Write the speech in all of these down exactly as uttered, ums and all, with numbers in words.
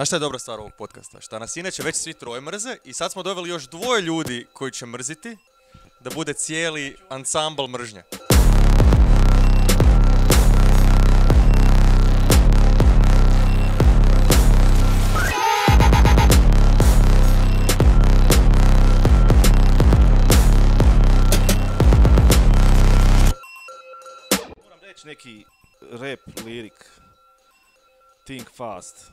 Znaš šta je dobra stvar ovog podcasta? Šta nas inače već svi troje mrze i sad smo doveli još dvoje ljudi koji će mrziti da bude cijeli ansambl mržnje. Moram reći neki rap lirik. Think fast.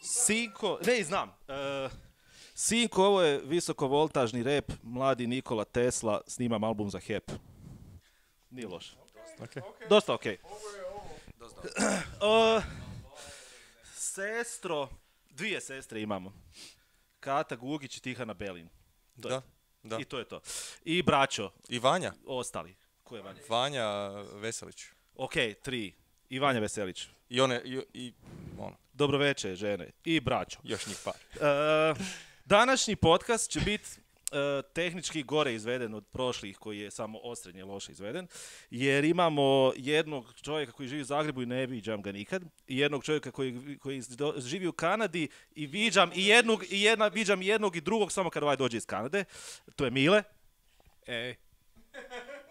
Sinko, ne znam. Uh, Sinko, ovo je visokovoltažni rap, mladi Nikola Tesla, snimam album za H E P. Nije loše. Okay. Dosta okej. Okay. uh, sestro, dvije sestre imamo. Kata Gugić i Tihana Belin. To Da, je. da. I to je to. I braćo, I Vanja. ostali. Ko je Vanja? Vanja Veselić. Ok, tri. I Vanja Veselić. I one, i, i ono, Dobro večer, žene. I braćo. još njih par. Uh, današnji podcast će biti uh, tehnički gore izveden od prošlih koji je samo osrednje loše izveden, jer imamo jednog čovjeka koji živi u Zagrebu i ne viđam ga nikad, i jednog čovjeka koji, koji živi u Kanadi i viđam i jednog, i jedna, viđam jednog i drugog samo kad ovaj dođe iz Kanade. To je Mile. Ej.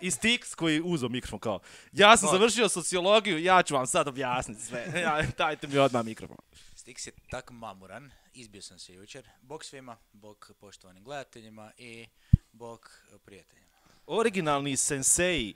I Stix koji uzeo mikrofon kao, ja sam završio sociologiju, ja ću vam sad objasniti sve. Ja, dajte mi odmah mikrofon. Stix je tak mamuran, izbio sam se jučer. Bog svima, bog poštovanim gledateljima i bog prijateljima. Originalni sensei.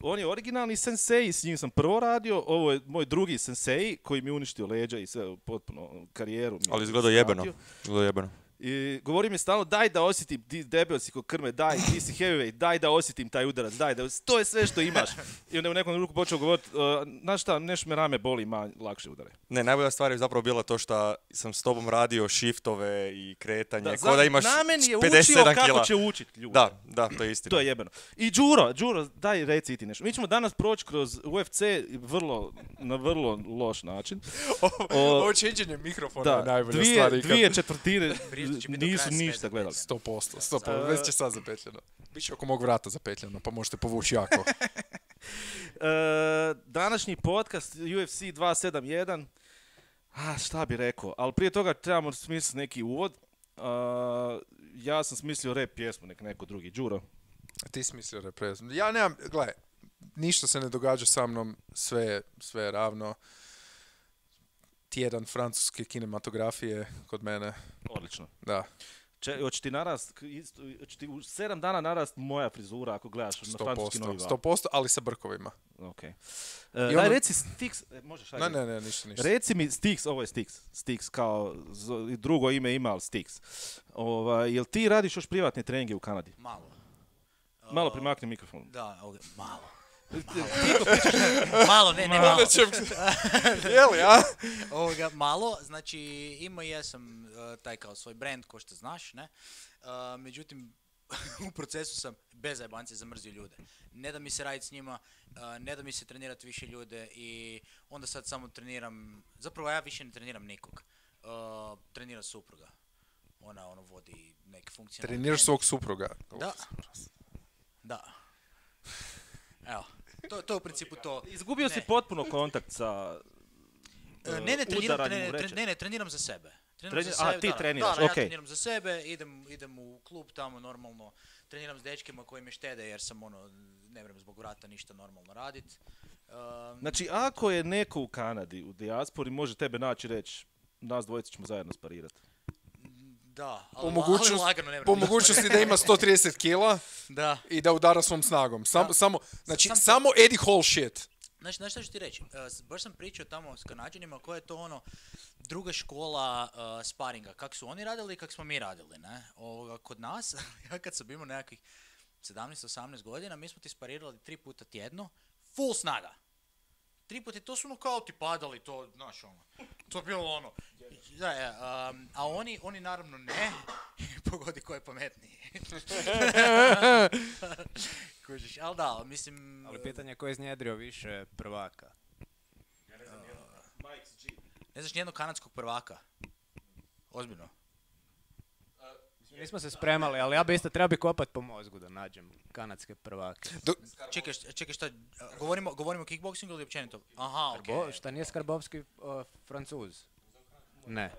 On je originalni sensei, s njim sam prvo radio, ovo je moj drugi sensei koji mi je uništio leđa i sve, potpuno karijeru. Mi Ali izgleda jebeno. Izgleda jebeno. I govori mi stalno, daj da osjetim, ti debel si ko krme, daj, ti si heavyweight, daj da osjetim taj udarac, daj da, to je sve što imaš. I onda u nekom ruku počeo govoriti, uh, znaš šta, nešto me rame boli, ima lakše udare. Ne, najbolja stvar je zapravo bila to što sam s tobom radio shiftove i kretanje, Da, ko da imaš na meni je pedeset učio sedam kako kila. će učit ljude. Da, da, to je istina. To je jebeno. I Đuro, Đuro, daj reci ti nešto. Mi ćemo danas proći kroz U F C vrlo, na vrlo loš način. Ovo čenđenje mikrofona Da, je najbolja dvije, stvar ikad. dvije četvrtine Priča će biti do nisu kraja sve ništa gledali. sto posto, sto posto. Već će sad zapetljeno. Biće oko mog vrata zapetljeno, pa možete povući jako. E, današnji podcast U F C dvjesto sedamdesijet jedan. A, šta bi rekao, ali prije toga trebamo smisliti neki uvod. A, ja sam smislio rap pjesmu, nek neko drugi. Đuro. Ti si mislio reprezent. Ja nemam, gledaj, ništa se ne događa sa mnom, sve, sve je ravno. Tjedan francuske kinematografije kod mene, Odlično. da. Če, hoće ti narast, isto, hoće ti u sedam dana narast moja frizura ako gledaš na sto francuski novi posto, val. sto posto, ali sa brkovima. Ok. E, I daj ono- reci Stix, e, možeš ajde. Ne, ne, ne, ništa, ništa. Reci mi Stix, ovo je Stix, Stix kao z- drugo ime ima, ali Stix. Ovaj, jel ti radiš još privatne treninge u Kanadi? Malo. Malo Uh, primakni mikrofon. Da, ovdje, malo. Malo, ne, ne malo. Onda ćem... Jeli, a? Ovoga, malo, znači imao jesam uh, taj kao svoj brand, ko što znaš, ne? Uh, međutim, u procesu sam bez zajebance zamrzio ljude. Ne da mi se raditi s njima, uh, ne da mi se trenirati više ljude i onda sad samo treniram, zapravo ja više ne treniram nikog. Uh, trenira supruga. Ona ono vodi neke funkcionalne... Treniraš svog supruga. Da. Da. Evo, to, to je u principu to. Izgubio si Ne. potpuno kontakt sa E, Ne, ne, treniram, udaranjem ne, u ne, vreće. ne, ne, treniram za sebe. Treniram Treni- za aha, sebe, ti da, da, treniraš, da, da, ja okej. treniram za sebe, idem, idem u klub tamo normalno, treniram s dečkima koji me štede jer sam ono, ne vrem zbog vrata ništa normalno radit. Um, Znači, ako je neko u Kanadi, u dijaspori, može tebe naći i reći, nas dvojica ćemo zajedno sparirati. da, ali, Po, ali mogućnost, lagano ne vrem. po mogućnosti da ima sto trideset kila Da. i da udara svom snagom. Sam, Da. samo, znači, Sam to- samo Eddie Hall shit. Znaš, znaš šta ću ti reći? Uh, s- baš sam pričao tamo s Kanađanima koja je to ono druga škola uh, sparinga. Kak su oni radili i kak smo mi radili, ne? Ovoga, kod nas, ja kad sam imao nekakvih sedamnaest osamnaest godina, mi smo ti sparirali tri puta tjedno, full snaga. Tri puta, i to su ono kao ti padali, to, znaš ono, to je bilo ono. Da, je, um, a oni, oni naravno ne, pogodi ko je pametniji. Kužiš, ali da, mislim... Ali pitanje je ko je iznjedrio više prvaka. Ne znaš nijednog kanadskog prvaka? Ozbiljno. Nismo se spremali, ali ja bi isto trebao bi kopat po mozgu da nađem kanadske prvake. Čekaj, šta- čekaj šta, govorimo, govorimo o kickboxingu ili općenito? Aha, okej. Bo, šta nije Skarbovski uh, Francuz? Ne.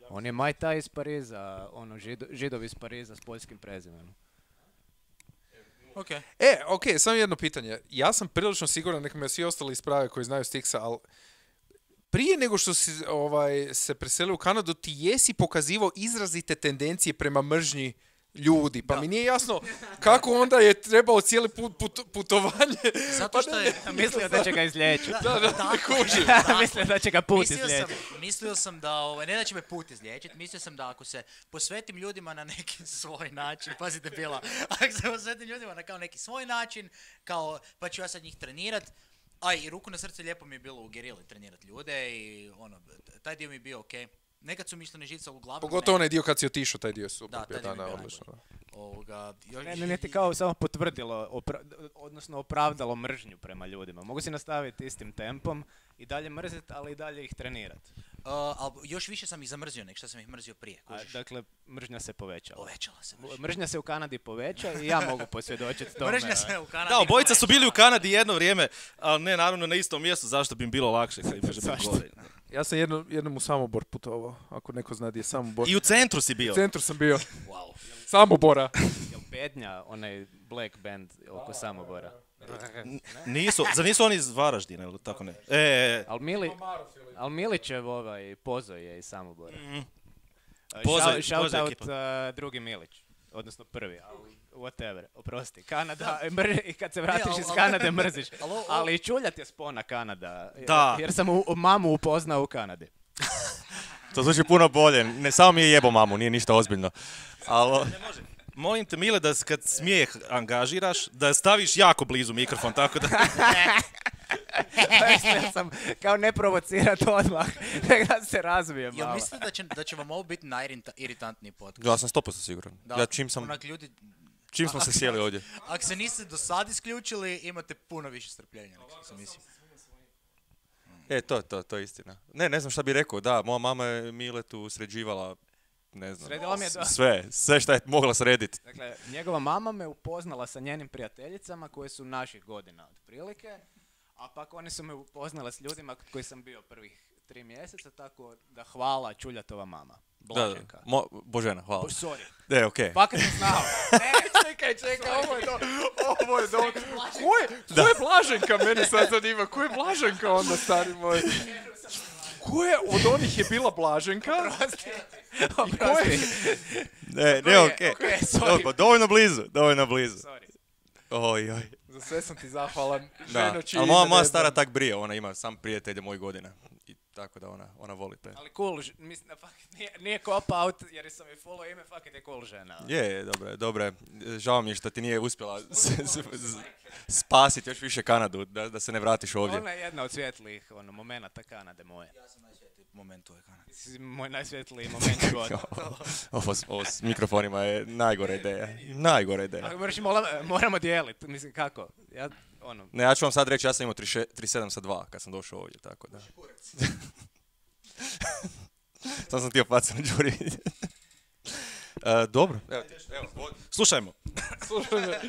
On je Muay Thai iz Pariza, ono, žido, židov iz Pariza s poljskim prezimenom. Okej. E, ok, samo jedno pitanje. Ja sam prilično siguran, neka me svi ostali isprave koji znaju Stixa, ali prije nego što si ovaj, se preselio u Kanadu, ti jesi pokazivao izrazite tendencije prema mržnji ljudi. Pa Da. mi nije jasno kako onda je trebao cijeli put, put, putovanje. Zato što je... Mislio da će ga izliječiti. Da, da, tako je, tako. Mislio da će ga put Mislio sam, izliječiti. mislio sam da, ovaj, ne da će me put izliječiti, mislio sam da ako se posvetim ljudima na neki svoj način, pazite bila, ako se posvetim ljudima na kao neki svoj način, kao, pa ću ja sad njih trenirat, a i ruku na srce lijepo mi je bilo u gerili trenirat ljude i ono, taj dio mi je bio okej. Nekad su mišljene živce uglavnom... Pogotovo ne. onaj dio kad si otišao, taj dio je super. Da, taj bio, dio mi je bio odlično. Ovoga, još- Ne, ne, ne ti kao samo potvrdilo, opra- odnosno opravdalo mržnju prema ljudima. Mogu si nastaviti istim tempom i dalje mrziti, ali i dalje ih trenirati. Uh, ali još više sam ih zamrzio nek što sam ih mrzio prije. A, kužiš. dakle, mržnja se povećala. Povećala se mržnja. Mržnja se u Kanadi poveća i ja mogu posvjedočiti tome. Mržnja se u Kanadi Da, obojica su povećala. bili u Kanadi jedno vrijeme, ali ne naravno na istom mjestu, zašto bi im bilo lakše kad im može biti Zašto? gore. Ja sam jedno, jednom u Samobor putovao, ako neko zna gdje je Samobor. I u centru si bio. U centru sam bio. Wow. Samobora. Jel Bednja, onaj black band oko Samobora? Nisu, za nisu oni iz Varaždina ili tako ne? E, e, e. Al, Mili, al Milićev ovaj Pozo je iz Samobora. Mhm. Uh, Pozo je- shout- shout Pozo je out, ekipa. uh, drugi Milić. Odnosno prvi, ali whatever, oprosti. Kanada, mr- i kad se vratiš al- iz al- Kanade mrziš. al ovo- Ali čuljat je spona Kanada. Da. Jer sam u, mamu upoznao u Kanadi. To zvuči puno bolje. Ne samo mi je jebo mamu, nije ništa ozbiljno. Ali... Molim te, Mile, da s- kad smijeh angažiraš, da staviš jako blizu mikrofon, tako da... Mislio sam kao ne provocirat odmah, nek da se razvije Jel malo. mislite da će, da će vam ovo biti najiritantniji podcast? Ja sam sto posto siguran. Da, Ja čim sam, onak ljudi, čim smo se sjeli ovdje. ako se niste do sad isključili, imate puno više strpljenja nego što sam mislio. E, to, to, to je istina. Ne, ne znam šta bi rekao. Da, moja mama je Miletu sređivala, ne znam, Sredila mi je do- sve, sve šta je mogla srediti. Dakle, njegova mama me upoznala sa njenim prijateljicama koje su naših godina otprilike, a pak one su me upoznale s ljudima kod koji sam bio prvih tri mjeseca, tako da hvala Čuljatova mama. Da, da. Blaženka. Mo, Božena, hvala. Bo, sorry. E, okej. Fakat sam znao. Ne, Čekaj, čekaj, ovo je do... Ovo je do... Ko je, ko je Blaženka, mene sad zanima, ko je Blaženka onda, stari moj? Ko je, od onih je bila Blaženka? oprosti. Ne, ne, okej. okej, sorry. Dobro, dovoljno blizu, dovoljno blizu. Sorry. Oj, oj. Za sve sam ti zahvalan. Da, Ženo, čije ali ime moja, ne moja znam. stara tak brije, ona ima sam prijatelje mojih godina. I tako da ona, ona voli te. Ali cool, ž- mislim da fakat nije, nije cop out jer sam je follow ime, fakat je cool žena. Je, je, dobro je, dobro je. Žao mi je što ti nije uspjela s- s- s- spasiti još više Kanadu, da, da se ne vratiš ovdje. Ona je jedna od svjetlijih ono, momenata Kanade moje. Ja sam najsvjetliji moment u ovoj Kanadi. Ti si moj najsvjetliji moment života. Ovo, s- ovo s mikrofonima je najgora ideja. Najgora ideja. Ako moraš, mola- moramo dijeliti, mislim kako? Ja, ono, Ne, ja ću vam sad reći, ja sam imao trideset šest trideset sedam sa dva kad sam došao ovdje, tako da. Sam sam htio pacati na Đuri. E, dobro. Evo, ti, evo, vodi. Slušajmo. Slušaj, me,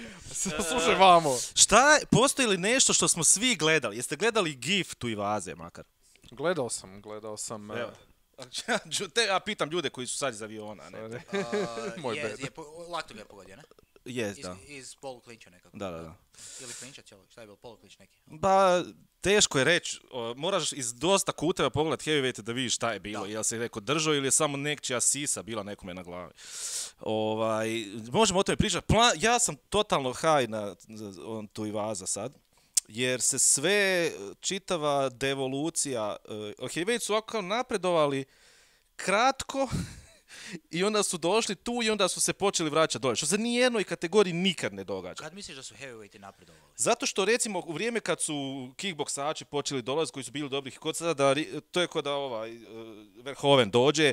slušaj vamo. Šta, postoji li nešto što smo svi gledali? Jeste gledali GIF tu i vaze makar? Gledao sam, gledao sam... Evo. eh, Đu- Te, ja pitam ljude koji su sad iz aviona, ne? sorry. Uh, Moj je, bed. je, po, lakto ga je pogodio, ne? Jest, Iz, da. iz poluklinča nekako. Da, da, da. Ili klinča cijelo, šta je bilo, poluklinč neki. Ba, teško je reći, o, moraš iz dosta kuteva pogledat heavyweight da vidiš šta je bilo, Da. jel se neko držao ili je samo nekčija sisa bila nekome na glavi. Ovaj, možemo o tome pričati. Pla- ja sam totalno high na z- on tu i vaza sad, jer se sve, čitava devolucija, uh, heavyweight su ovako napredovali kratko i onda su došli tu i onda su se počeli vraćati dolje, što se nijednoj kategoriji nikad ne događa. Kad misliš da su heavyweighti napredovali? Zato što recimo u vrijeme kad su kickboksači počeli dolaziti koji su bili dobrih kod sada, da, ri- to je kod da ovaj uh, Verhoeven dođe,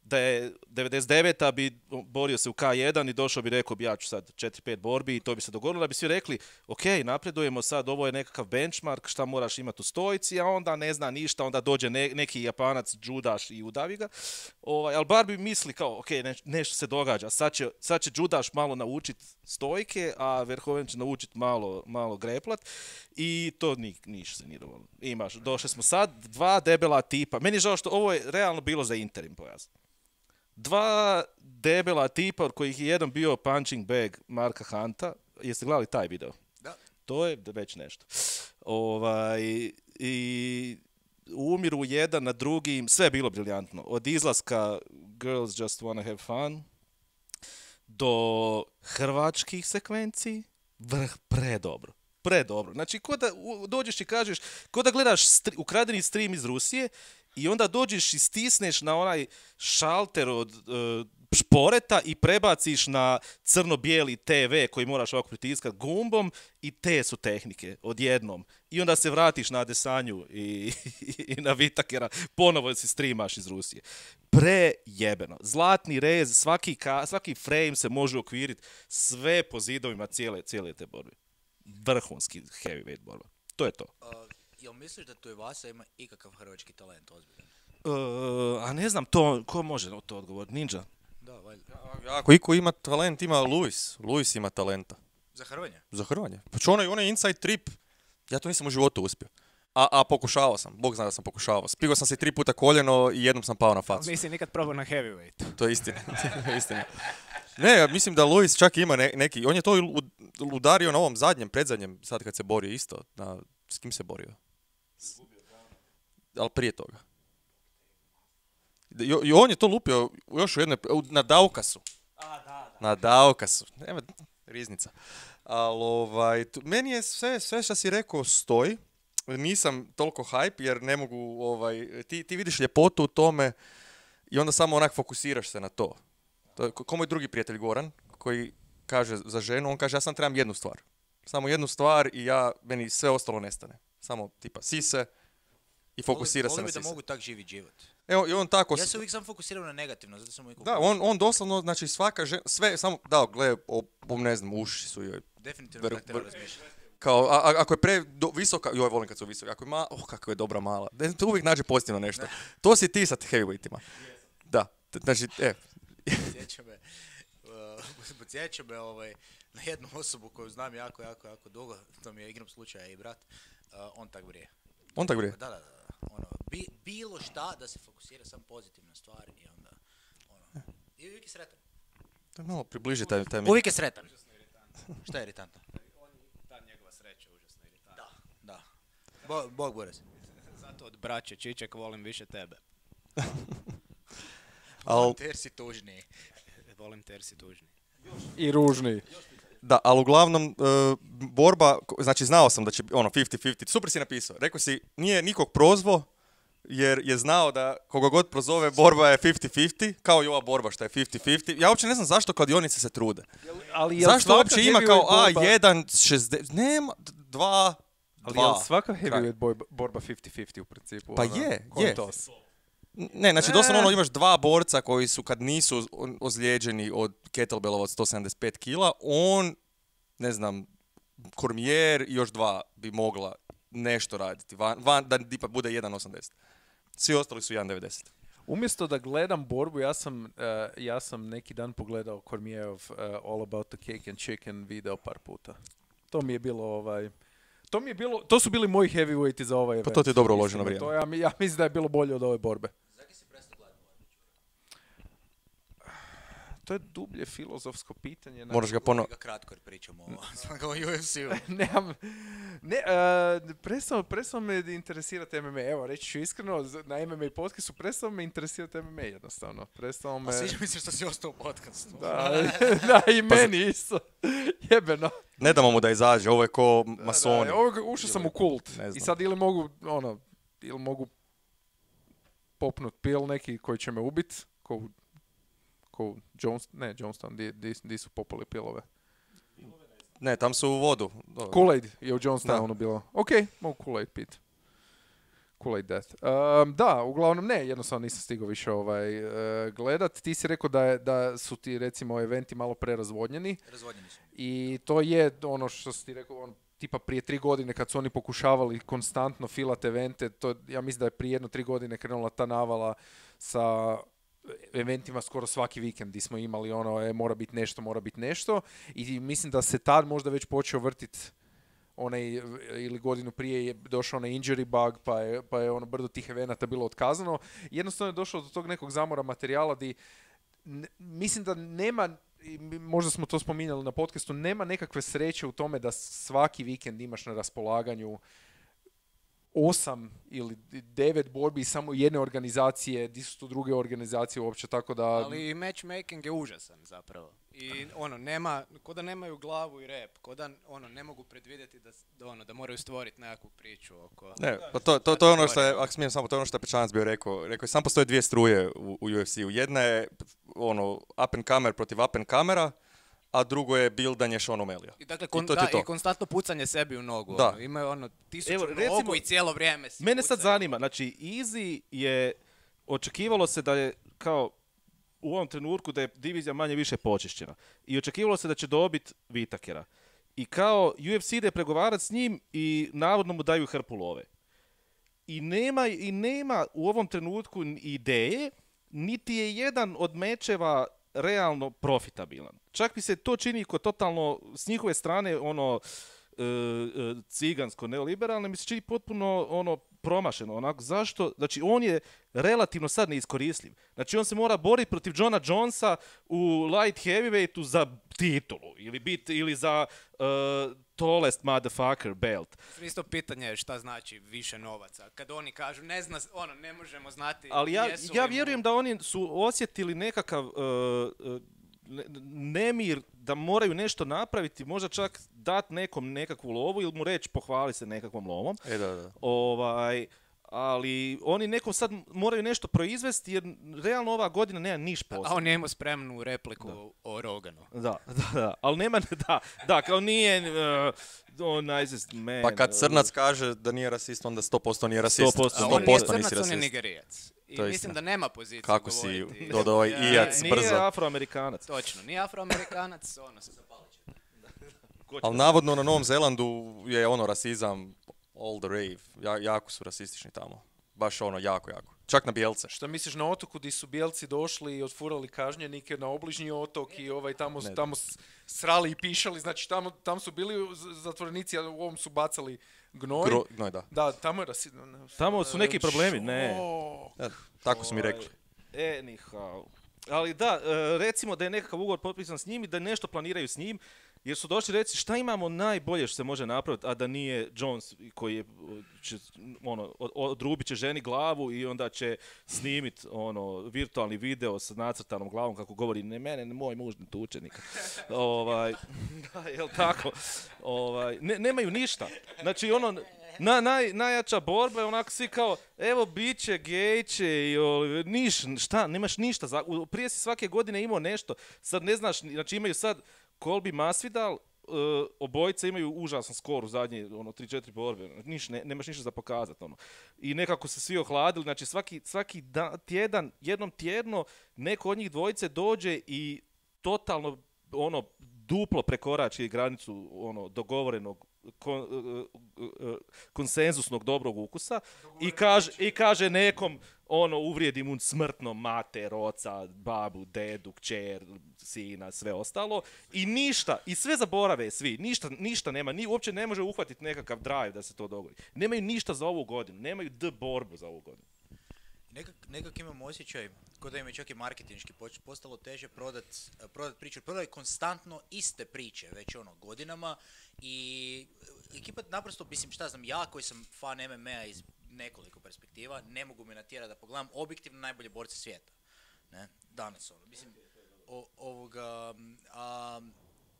da je devedeset deveta bi borio se u K jedan i došao bi rekao bi ja ću sad četiri pet borbi i to bi se dogodilo da bi svi rekli ok, napredujemo sad, ovo je nekakav benchmark, šta moraš imati u stojici, a onda ne zna ništa, onda dođe ne, neki Japanac, Judaš i udavi ga. Ovaj, ali bar bi misli kao ok, ne, nešto se događa, sad će, sad će Judaš malo naučiti stojke, a Verhoeven će naučiti malo, malo greplat i to ni, niš se nije dovoljno. Imaš, došli smo sad, dva debela tipa, meni je žao što ovo je realno bilo za interim pojas. Dva debela tipa od kojih je jedan bio punching bag Marka Hunta. Jeste gledali taj video? Da. To je već nešto. Ovaj, i umiru jedan na drugi, sve je bilo briljantno. Od izlaska Girls Just Wanna Have Fun do hrvačkih sekvenciji, vrh predobro. Predobro. Znači, ko da u- dođeš i kažeš, ko da gledaš stri- ukradeni stream iz Rusije i onda dođeš i stisneš na onaj šalter od uh, šporeta i prebaciš na crno-bijeli te ve koji moraš ovako pritiskat gumbom i te su tehnike odjednom. I onda se vratiš na Adesanju i, i na Vitakera, ponovo si streamaš iz Rusije. Prejebeno. Zlatni rez, svaki, ka, svaki frame se može okviriti sve po zidovima cijele, cijele te borbe. Vrhunski heavyweight borba. To je to. Uh, jel misliš da tu i Vasa ima ikakav hrvački talent ozbiljan? Uh, a ne znam, to, ko može na to odgovoriti? Ninja? Da, valjda. Ako iko ima talent, ima Luis. Luis ima talenta. Za hrvanje? Za hrvanje. Pa čo onaj, onaj inside trip, ja to nisam u životu uspio. A, a pokušavao sam, Bog zna da sam pokušavao. Spigao sam se tri puta koljeno i jednom sam pao na facu. Nisi nikad probao na heavyweight. To je istina. To je istina. Ne, ja mislim da Luis čak ima ne- neki, on je to i lu- udario na ovom zadnjem, predzadnjem, sad kad se borio isto. Na, s kim se borio? Ali prije toga. I, I on je to lupio još u jednoj, u- na Daukasu. Na Daukasu. Nema, riznica. Ali ovaj, tu- meni je sve, sve što si rekao stoji. Nisam toliko hype jer ne mogu, ovaj, ti, ti vidiš ljepotu u tome i onda samo onak fokusiraš se na to. To je ko ko moj drugi prijatelj Goran, koji kaže za ženu, on kaže ja sam trebam jednu stvar. Samo jednu stvar i ja, meni sve ostalo nestane. Samo tipa sise i fokusira se Volio na bi da sise. mogu tak živit život. Evo, i on tako... Ja s- se uvijek sam fokusirao na negativno, zato sam uvijek... Da, on, on doslovno, znači svaka žena, sve, samo, da, gle, o, o, ne znam, uši su joj, Definitivno Vr- tak treba vr- razmišljati. kao, a, a- ako je pre do, visoka, joj, volim kad su visoka, ako je ma, oh, kako je dobra mala, ne, to uvijek nađe pozitivno nešto. To si ti sa heavyweightima. Da, t- znači, e, Podsjeća me, uh, podsjeća me ovaj, na jednu osobu koju znam jako, jako, jako dugo, to mi je igrom slučaja i brat, uh, on tak brije. on tak brije. Da, da, da. Ono, bi, bilo šta da se fokusira sam pozitivne stvari i onda, ono, i uvijek je sretan. To je malo približi taj, taj mi. Uvijek je sretan. Šta je iritantno? Ta njegova sreća užasno iritantna. Da, da. Bo, Bog Boris. Zato od braće Čiček volim više tebe. Al, Ter si tužniji. Volim te jer si tužni. I ružni. da, ali uglavnom, e, borba, ko- znači znao sam da će, ono, pedeset pedeset, super si napisao. Rekao si, nije nikog prozvo, jer je znao da koga god prozove borba je pedeset pedeset, kao i ova borba što je pedeset pedeset. Ja uopće ne znam zašto kladionice se trude. Ali jel Zašto svaka uopće ima kao heavyweight borba- A jedan, šezdeset, nema, dva, Ali dva. jel svaka kraj. heavyweight borba, borba pedeset pedeset u principu? Pa ono, je, ko je je. to? Ne, znači Ne. doslovno ono imaš dva borca koji su kad nisu oz- ozlijeđeni od kettlebellova od sto sedamdeset pet kila, on, ne znam, Kormijer i još dva bi mogla nešto raditi, van, van da ipak bude jedan osamdeset. Svi ostali su jedan devedeset. Umjesto da gledam borbu, ja sam, uh, ja sam neki dan pogledao Kormijerov uh, All About the Cake and Chicken video par puta. To mi je bilo ovaj... To mi je bilo, to su bili moji heavyweighti za ovaj event. to ti je dobro uloženo Iskreno, vrijeme. To ja, mi- ja mislim da je bilo bolje od ove borbe. To je dublje filozofsko pitanje. na- Moraš ga ponovo... Ga kratko jer pričamo o o U F C-u. Nemam, ne, uh, prestao, prestao me interesirati M M A. Evo, reći ću iskreno, z- na M M A podcastu prestao me interesirati M M A jednostavno. Prestao me... A sviđa mi se što si ostao u podcastu. Da, da, i meni isto. Jebeno. Ne damo mu da izađe, ovo je ko Da, masoni. da, ovo, ušao sam u kult. Ne I znam. sad ili mogu, ono, ili mogu popnut pil neki koji će me ubit, ko, u- ko u Jones, ne, Jonestown, di, di, di su popali pilove. Ne, tam su u vodu. Dobro. Kool-Aid je u Jonestownu bilo. Ok, mogu Kool-Aid pit. Kool-Aid Death. Um, da, uglavnom ne, jednostavno nisam stigao više ovaj, uh, gledat. Ti si rekao da, je, da su ti recimo eventi malo prerazvodnjeni. Razvodnjeni su. I to je ono što si ti rekao, ono, tipa prije tri godine kad su oni pokušavali konstantno filat evente, to, ja mislim da je prije jedno tri godine krenula ta navala sa eventima skoro svaki vikend gdje smo imali ono, e, mora biti nešto, mora biti nešto. I mislim da se tad možda već počeo vrtiti onaj, ili godinu prije je došao onaj injury bug, pa je, pa je ono brdo tih evenata bilo otkazano. Jednostavno je došlo do tog nekog zamora materijala di n- mislim da nema, možda smo to spominjali na podcastu, nema nekakve sreće u tome da svaki vikend imaš na raspolaganju osam ili devet borbi samo jedne organizacije, di su tu druge organizacije uopće, tako da... Ali matchmaking je užasan zapravo. I ono, nema, ko da nemaju glavu i rep, ko da ono, ne mogu predvidjeti da, da, ono, da moraju stvoriti nekakvu priču oko... Ne, pa to, to, to je ono što je, ako smijem samo, to je ono što je Pečanac bio rekao. Rekao je, sam postoje dvije struje u, u U F C-u. Jedna je ono, up and comer protiv up and comera, a drugo je bildanje Sean O'Malley. I dakle, kon, I to ti da, to. i konstantno pucanje sebi u nogu. Da. Ono, imaju ono tisuću Evo, nogu recimo, i cijelo vrijeme si Mene sad pucaju. zanima, znači Easy je, očekivalo se da je kao u ovom trenutku da je divizija manje više počišćena. I očekivalo se da će dobiti Whittakera. I kao U F C ide pregovarati s njim i navodno mu daju hrpu love. I nema, i nema u ovom trenutku ideje, niti je jedan od mečeva realno profitabilan. Čak mi se to čini ko totalno s njihove strane ono e, e, cigansko neoliberalno, mi se čini potpuno ono promašeno. Onako, zašto? Znači on je relativno sad neiskoristljiv. Znači on se mora boriti protiv Johna Jonesa u light heavyweightu za titulu ili bit ili za uh, tallest motherfucker belt. Isto pitanje je šta znači više novaca. Kad oni kažu ne zna, ono, ne možemo znati Ali ja, jesu ja li mu- vjerujem da oni su osjetili nekakav uh, uh, ne- nemir da moraju nešto napraviti, možda čak dat nekom nekakvu lovu ili mu reći pohvali se nekakvom lovom. E, da, da. Ovaj, ali oni nekom sad moraju nešto proizvesti jer realno ova godina nema niš A posla. on je imao spremnu repliku o Roganu. Da, da, da, ali nema, da, da, kao nije uh, oh, nicest man. Pa kad Crnac kaže da nije rasist, onda sto posto nije rasist. sto posto A sto on sto nije posto nisi crnac, on je rasist. nigerijac. I To je mislim istina. da nema poziciju Kako si govoriti. dodao ovaj Ja, ijac Nije brzo. afroamerikanac. Točno, nije afroamerikanac, ono se zapalit će. Ali navodno na Novom Zelandu je ono rasizam all the rave. Ja, jako su rasistični tamo. Baš ono, jako, jako. Čak na bijelce. Šta misliš na otoku gdje su bijelci došli i otfurali kažnjenike na obližnji otok i ovaj tamo, Ne. tamo s- srali i pišali, znači tamo, tam su bili z- zatvorenici, a u ovom su bacali gnoj. Gro, gnoj, da. Da, tamo je rasizam. Tamo su neki problemi, ne. Šok. E, tako su mi rekli. Anyhow. Ali da, e, recimo da je nekakav ugovor potpisan s njim i da nešto planiraju s njim, jer su došli reći šta imamo najbolje što se može napraviti, a da nije Jones koji je, će, ono, od- odrubit će ženi glavu i onda će snimit ono, virtualni video sa nacrtanom glavom kako govori ne mene, ne moj muž ne tuče nikad. ovaj, da, jel tako? Ovaj, ne, nemaju ništa. Znači ono, na, naj, najjača borba je onako svi kao, evo bit će, gej će, i, o, niš, šta, nemaš ništa. Za, u- prije si svake godine imao nešto, sad ne znaš, znači imaju sad Colby Masvidal, uh, obojice imaju užasan skor u zadnje ono, tri četiri borbe, niš, ne, nemaš ništa za pokazati. Ono. I nekako se svi ohladili, znači svaki, svaki da, tjedan, jednom tjedno neko od njih dvojice dođe i totalno ono, duplo prekorači granicu ono, dogovorenog kon, uh, uh, uh, konsensusnog dobrog ukusa i kaže, i kaže nekom ono uvrijedi mu smrtno mater, oca, babu, dedu, kćer, sina, sve ostalo i ništa, i sve zaborave svi, ništa, ništa nema, ni, uopće ne može uhvatiti nekakav drive da se to dogodi. Nemaju ništa za ovu godinu, nemaju d borbu za ovu godinu. Nekak, nekak imam osjećaj, kod da im je čak i marketinški poč- postalo teže prodat, prodat priču. Prodaju konstantno iste priče, već ono godinama i ekipa naprosto, mislim šta znam, ja koji sam fan M M A iz nekoliko perspektiva, ne mogu me natjerati da pogledam objektivno najbolje borce svijeta. Ne? Danas ono, mislim, o, ovoga, a,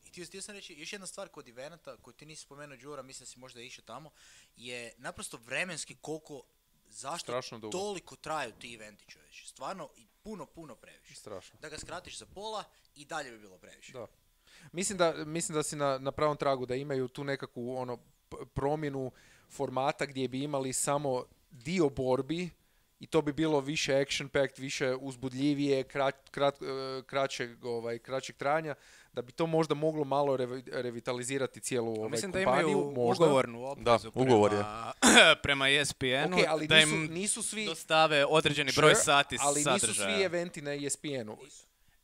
i htio, htio sam reći, još jedna stvar kod evenata, koju ti nisi spomenuo, Đura, mislim da si možda išao tamo, je naprosto vremenski koliko, zašto Strašno dugo. toliko traju ti eventi, čovječe. Stvarno, i puno, puno previše. Strašno. Da ga skratiš za pola i dalje bi bilo previše. Da. Mislim da, mislim da si na, na pravom tragu, da imaju tu nekakvu ono p- promjenu formata gdje bi imali samo dio borbi i to bi bilo više action packed, više uzbudljivije, krat, krat, kraćeg, ovaj, kraćeg trajanja, da bi to možda moglo malo revi, revitalizirati cijelu ovaj, Mislim da kompaniju. imaju možda. ugovornu obvezu Da, ugovor prema, prema E S P N-u, Okay, ali da nisu, im nisu svi, dostave određeni broj Sure, sati ali sadržaja. nisu svi eventi na E S P N-u.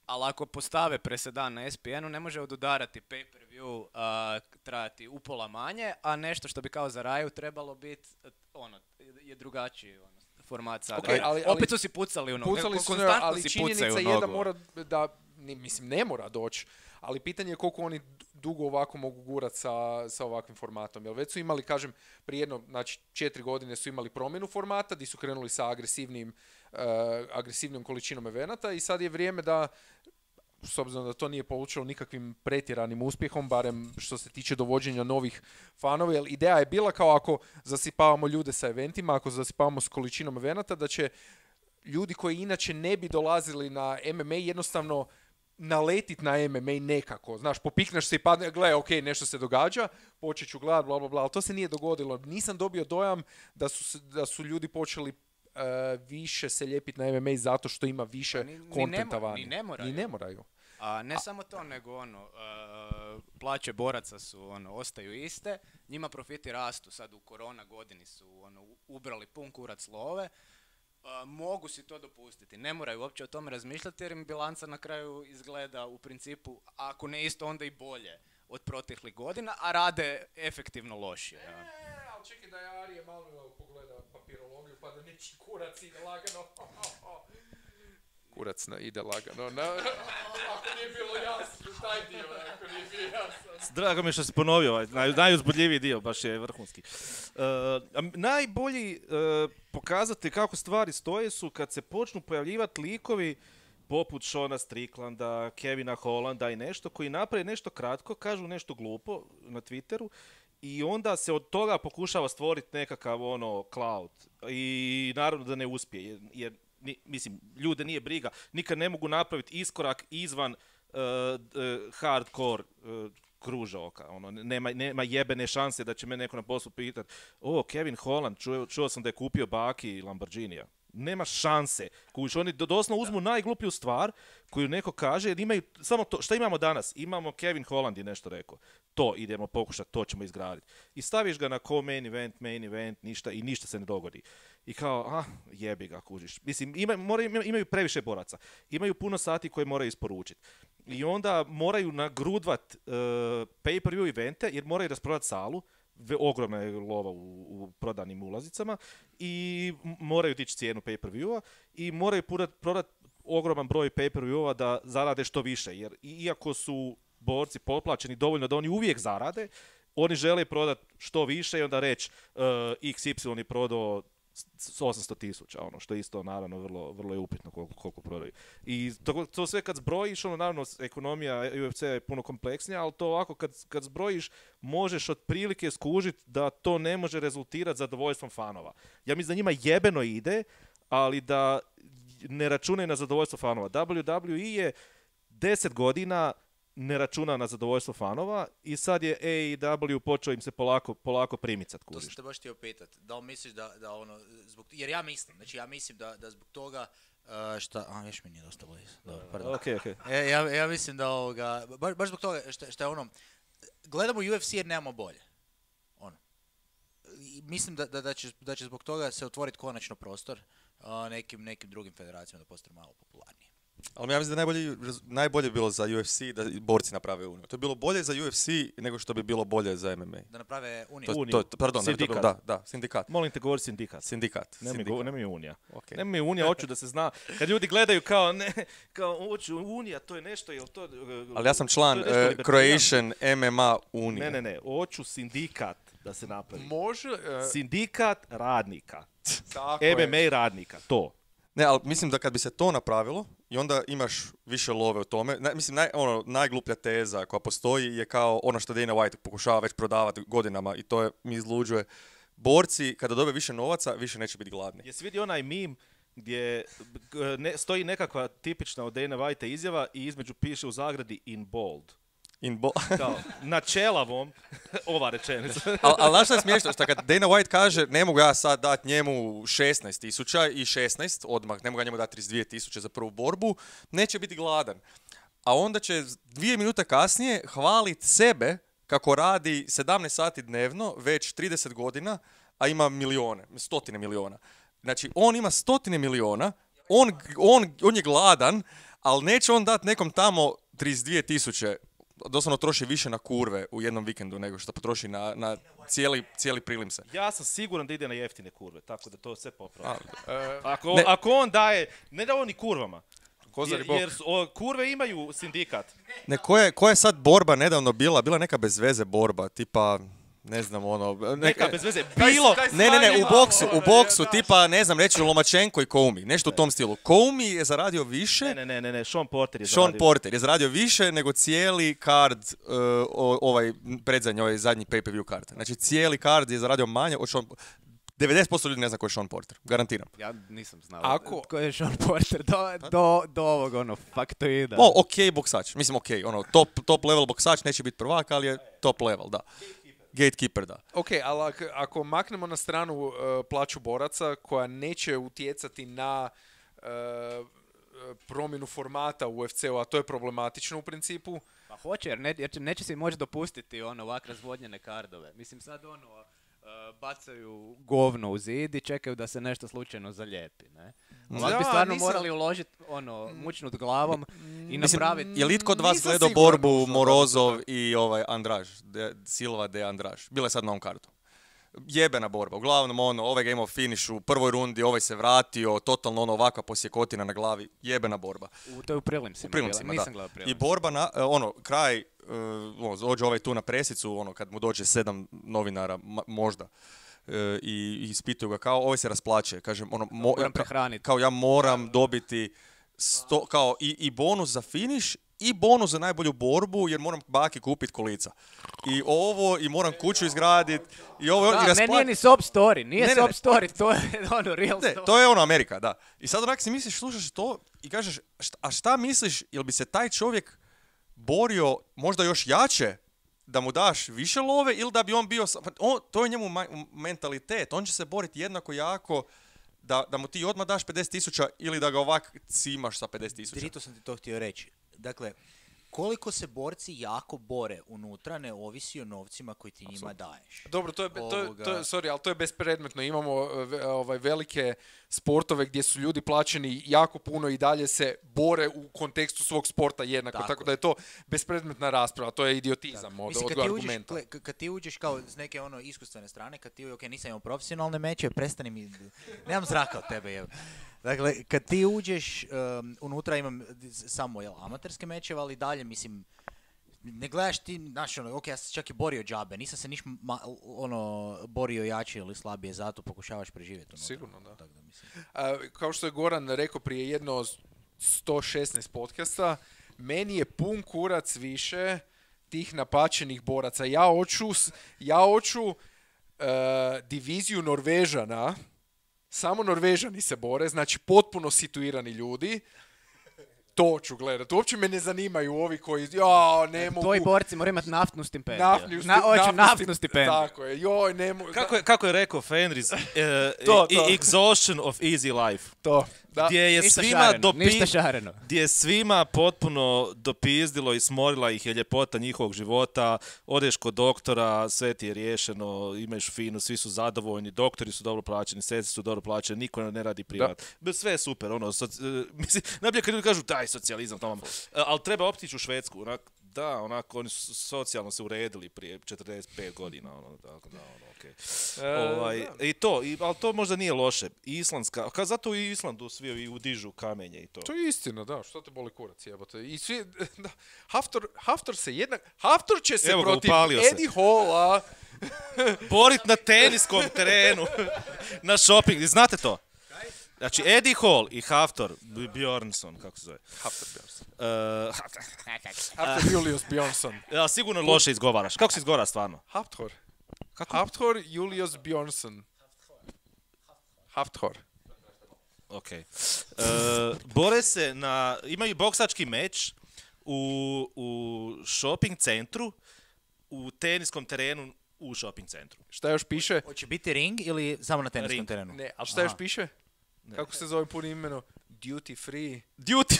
Ali ako postave presedan na E S P N-u, ne može odudarati pay-per-view a, trajati upola manje, a nešto što bi kao za Raju trebalo biti, ono, je drugačiji ono, format sadržaja. Okay, ali, ali, Opet su si pucali u nogu, pucali su, konstantno ali si činjenica pucaju u je da nogu. mora, da, ni- mislim, ne mora doći, ali pitanje je koliko oni dugo ovako mogu gurati sa, sa ovakvim formatom. Jer već su imali, kažem, prije jedno, znači četiri godine su imali promjenu formata, gdje su krenuli sa agresivnim, uh, agresivnom količinom evenata i sad je vrijeme da, s obzirom da to nije polučilo nikakvim pretjeranim uspjehom, barem što se tiče dovođenja novih fanova, jer ideja je bila kao ako zasipavamo ljude sa eventima, ako zasipavamo s količinom evenata, da će ljudi koji inače ne bi dolazili na M M A jednostavno naletit na M M A nekako. Znaš, popikneš se i padne, gle, ok, nešto se događa, počet ću gledat, bla, bla, bla, ali to se nije dogodilo. Nisam dobio dojam da su, se- da su ljudi počeli uh, više se lijepiti na M M A zato što ima više Pa ni- ni kontenta ne mo- vani. ni ne moraju. Ni ne moraju. A ne samo to, nego ono, uh, plaće boraca su, ono, ostaju iste, njima profiti rastu, sad u korona godini su, ono, u- ubrali pun kurac love, uh, mogu si to dopustiti, ne moraju uopće o tome razmišljati jer im bilanca na kraju izgleda u principu, ako ne isto, onda i bolje od proteklih godina, a rade efektivno lošije. Ja. E, ali čekaj da je Arije malo pogleda papirologiju pa da neći kurac ide lagano. Kurac na, ide lagano. Na, ako nije bilo jasno, taj dio, ako nije bio jasno. Drago mi je što si ponovio ovaj naj, najuzbudljiviji dio, baš je vrhunski. Uh, a m- najbolji uh, pokazatelj kako stvari stoje su kad se počnu pojavljivati likovi poput Shona Stricklanda, Kevina Hollanda i nešto, koji naprave nešto kratko, kažu nešto glupo na Twitteru i onda se od toga pokušava stvoriti nekakav ono cloud. I naravno da ne uspije, jer, jer ni- mislim, ljude nije briga, nikad ne mogu napraviti iskorak izvan uh, uh, hardcore uh, kružoka, ono, nema, nema jebene šanse da će me neko na poslu pitati, o, Kevin Holland, čuo, čuo sam da je kupio baki Lamborghinija. Nema šanse. Kužiš, oni do- doslovno uzmu najgluplju stvar koju neko kaže, jer imaju samo to, šta imamo danas? Imamo Kevin Holland je nešto rekao. To idemo pokušati, to ćemo izgraditi. I staviš ga na ko main event, main event, ništa i ništa se ne dogodi. I kao, ah, jebi ga, kužiš. Mislim, ima, moraju, ima- imaju previše boraca. Imaju puno sati koje moraju isporučiti. I onda moraju nagrudvat uh, pay-per-view evente, jer moraju rasprodati salu. Ve- ogromna je lova u, u prodanim ulazicama i m- moraju dići cijenu pay-per-viewa i moraju prodat, prodat ogroman broj pay-per-viewa da zarade što više, jer i- iako su borci potplaćeni dovoljno da oni uvijek zarade, oni žele prodat što više i onda reći uh, X Y je prodao s osamsto tisuća, ono, što je isto naravno vrlo, vrlo je upitno koliko, koliko prodaju. I to, to sve kad zbrojiš, ono, naravno, ekonomija U F C je puno kompleksnija, ali to ovako kad, kad zbrojiš, možeš otprilike skužiti da to ne može rezultirati zadovoljstvom fanova. Ja mislim da njima jebeno ide, ali da ne računaju na zadovoljstvo fanova. W W E je deset godina ne računa na zadovoljstvo fanova i sad je A E W počeo im se polako, polako primicat, To sam kužiš. te baš htio pitat. Da li misliš da, da ono, zbog, jer ja mislim, znači ja mislim da, da zbog toga, uh, šta, a još mi nije dosta blizu, dobro, pardon. Ok, ok. E, ja, ja mislim da ovoga, baš, baš zbog toga šta, šta je ono, gledamo U F C jer nemamo bolje. Ono. I mislim da, da, da, će, da će zbog toga se otvoriti konačno prostor uh, nekim, nekim drugim federacijama da postanu malo popularniji. Ali ja mislim da najbolje, rez- najbolje bilo za U F C da i borci naprave uniju. To je bilo bolje za U F C nego što bi bilo bolje za M M A. Da naprave uniju. To, Uniju. to, to- pardon, ne, to, Sindikat. da, da, sindikat. Molim te, govori sindikat. Sindikat. Nemoj, sindikat. go- nemoj unija. Ok. Nemoj unija, hoću da se zna. Kad ljudi gledaju kao, ne, kao, hoću unija, to je nešto, jel to... Ali ja sam član to je nešto uh, libertarijansko. Croatian M M A unije. Ne, ne, ne, hoću sindikat da se napravi. Može, e, Sindikat radnika. tako je. M M A radnika, to. Ne, ali mislim da kad bi se to napravilo i onda imaš više love u tome, na, mislim naj, ono, najgluplja teza koja postoji je kao ono što Dana White pokušava već prodavati godinama i to je, mi izluđuje. Borci kada dobe više novaca više neće biti gladni. Jesi vidio onaj meme gdje g- ne, stoji nekakva tipična od Dana White izjava i između piše u zagradi in bold. In bo- Kao, na čelavom, ova rečenica. Ali al, znaš šta je smiješno? Šta kad Dana White kaže ne mogu ja sad dati njemu šesnaest tisuća i šesnaest odmah, ne mogu ja njemu dati trideset dvije tisuće za prvu borbu, neće biti gladan. A onda će dvije minute kasnije hvaliti sebe kako radi sedamnaest sati dnevno, već trideset godina, a ima milijone, stotine miliona. Znači, on ima stotine miliona, on, on, on je gladan, ali neće on dati nekom tamo trideset dvije tisuće, doslovno troši više na kurve u jednom vikendu nego što potroši na, na cijeli, cijeli prilimse. Ja sam siguran da ide na jeftine kurve, tako da to sve popravi. E, Ako, Ne. ako on daje, ne da on ni kurvama, Kozari jer, bok. jer su- o, kurve imaju sindikat. Ne, koja je, koja je sad borba nedavno bila? Bila neka bez veze borba, tipa, ne znam, ono... Neka bez veze. Taj- Bilo, taj Ne, ne, ne, u stvarni boksu, malo, u boksu, da. tipa, ne znam, reći Lomačenko i Koumi, nešto u tom stilu. Koumi je zaradio više, ne, ne, ne, ne, ne, Sean Porter je Sean zaradio. Porter je zaradio više nego cijeli card, uh, o- ovaj predzadnji, ovaj zadnji pay-per-view card. Znači, cijeli card je zaradio manje od Sean... devedeset posto ljudi ne zna ko je Sean Porter, garantiram. Ja nisam znao Ako- tko je Sean Porter do, do, do ovog ono faktoida. O, ok boksač, mislim ok, ono, top, top level boksač, neće biti prvak, ali je top level, da. Gatekeeper, da. Ok, ali ak- ako maknemo na stranu e, plaću boraca koja neće utjecati na e, e, promjenu formata u U F C-u, a to je problematično u principu. Pa hoće, jer, ne, jer će, neće si moći dopustiti ono ovak razvodnjene kardove. Mislim sad ono uh, bacaju govno u zid i čekaju da se nešto slučajno zaljepi, ne? Ovak Da, bi stvarno nisam- morali uložiti ono, mučnut glavom i Mislim, napraviti... je li itko od vas Nisam gledao siguran borbu nužno da Morozov bi to i ovaj Andraž, de, Silva de Andraž? Bila je sad na ovom kartu. Jebena borba. Uglavnom ono, ovaj game of finish u prvoj rundi, ovaj se vratio, totalno ono ovakva posjekotina na glavi. Jebena borba. U, to je u prilimsima. U prilimsima, bila, da. Nisam gledao I prilimsima. borba na, e, ono, kraj, e, ono, dođe ovaj tu na presicu, ono, kad mu dođe sedam novinara, ma- možda, e, i, i ispituju ga kao, ovaj se rasplaće, kažem, ono, mo- Moram ka- prehraniti. kao ja moram dobiti sto, kao i, i bonus za finish i bonus za najbolju borbu, jer moram baki kupiti kolica. I ovo, i moram kuću izgraditi, i ovo, Da, i ne, raspla- nije ni sob story, nije Ne, ne, sob ne. story, to je ono real Ne, story. to je ono Amerika, da. I sad onak si misliš, slušaš to i kažeš, šta, a šta misliš, jel bi se taj čovjek borio možda još jače da mu daš više love ili da bi on bio, sa- pa on, to je njemu ma- mentalitet, on će se boriti jednako jako da, da mu ti odmah daš pedeset tisuća ili da ga ovak cimaš sa pedeset tisuća. Drito sam ti to htio reći. Dakle, koliko se borci jako bore unutra ne ovisi o novcima koji ti njima daješ. Dobro, to je, be- to je, to je, Ovoga. sorry, ali to je bespredmetno. Imamo e, ve- ovaj, velike sportove gdje su ljudi plaćeni jako puno i dalje se bore u kontekstu svog sporta jednako. Tako, Tako da je to bespredmetna rasprava. To je idiotizam od, Mislim, od kad ti, uđeš, argumenta. gle, k- kad ti uđeš kao s neke ono iskustvene strane, kad ti, ok, nisam imao profesionalne meče, prestani mi, nemam zraka od tebe, jevo. Dakle, kad ti uđeš, um, unutra imam s- samo, jel, amaterske mečeve, ali dalje, mislim, ne gledaš ti, znaš, ono, ok, ja sam se čak i borio džabe, nisam se niš, ma, ono, borio jače ili slabije, zato pokušavaš preživjeti unutra. Sigurno, da. Tako da, mislim. A, kao što je Goran rekao prije jedno sto šesnaest podcasta, meni je pun kurac više tih napačenih boraca. Ja hoću, s- ja hoću e, diviziju Norvežana, samo Norvežani se bore, znači potpuno situirani ljudi. To ću gledati. Uopće me ne zanimaju ovi koji, ja, ne mogu... Tvoji borci moraju imati naftnu stipendiju. Naftnu, sti- Na, hoću naftnu naftnu sti- stipendiju. Tako je, joj, ne mogu... Kako je, kako je rekao Fenris, uh, To, i- to. exhaustion of easy life. To, da. Gdje je Ništa svima šareno, dopi... ništa šareno. gdje je svima potpuno dopizdilo i smorila ih je ljepota njihovog života, odeš kod doktora, sve ti je riješeno, imaš finu, svi su zadovoljni, doktori su dobro plaćeni, sestre su dobro plaćeni, niko ne radi privat. Bez sve je super, ono, soci- e, mislim, najbolje kad ljudi kažu daj socijalizam tamo, E, ali treba optići u Švedsku, onak, da, onako, oni su socijalno se uredili prije četrdeset pet godina, ono, tako da, ono, okej. Ovaj, I to, i, ali to možda nije loše. Islandska, ka, zato u Islandu svi i udižu kamenje i to. To je istina, da, što te boli kurac, jebote. I svi, da, Haftor, Haftor se jednak, Haftor će se Evo ga, protiv upalio se. Eddie Halla, Borit na teniskom terenu, na shopping, znate to? Znači, Eddie Hall i Haftor B- Bjornsson, kako se zove. Haftor Bjornsson. Uh, Haftor Julius Bjornsson. ja, sigurno loše izgovaraš. Kako se izgovara stvarno? Haftor. Kako? Haftor Julius Bjornsson. Haftor. Ok. Uh, bore se na, imaju boksački meč u, u shopping centru, u teniskom terenu u shopping centru. Šta još piše? Hoće biti ring ili samo na teniskom Ring. terenu? Ne, ali šta Aha. još piše? Kako se zove punim imenom? Duty free. Duty,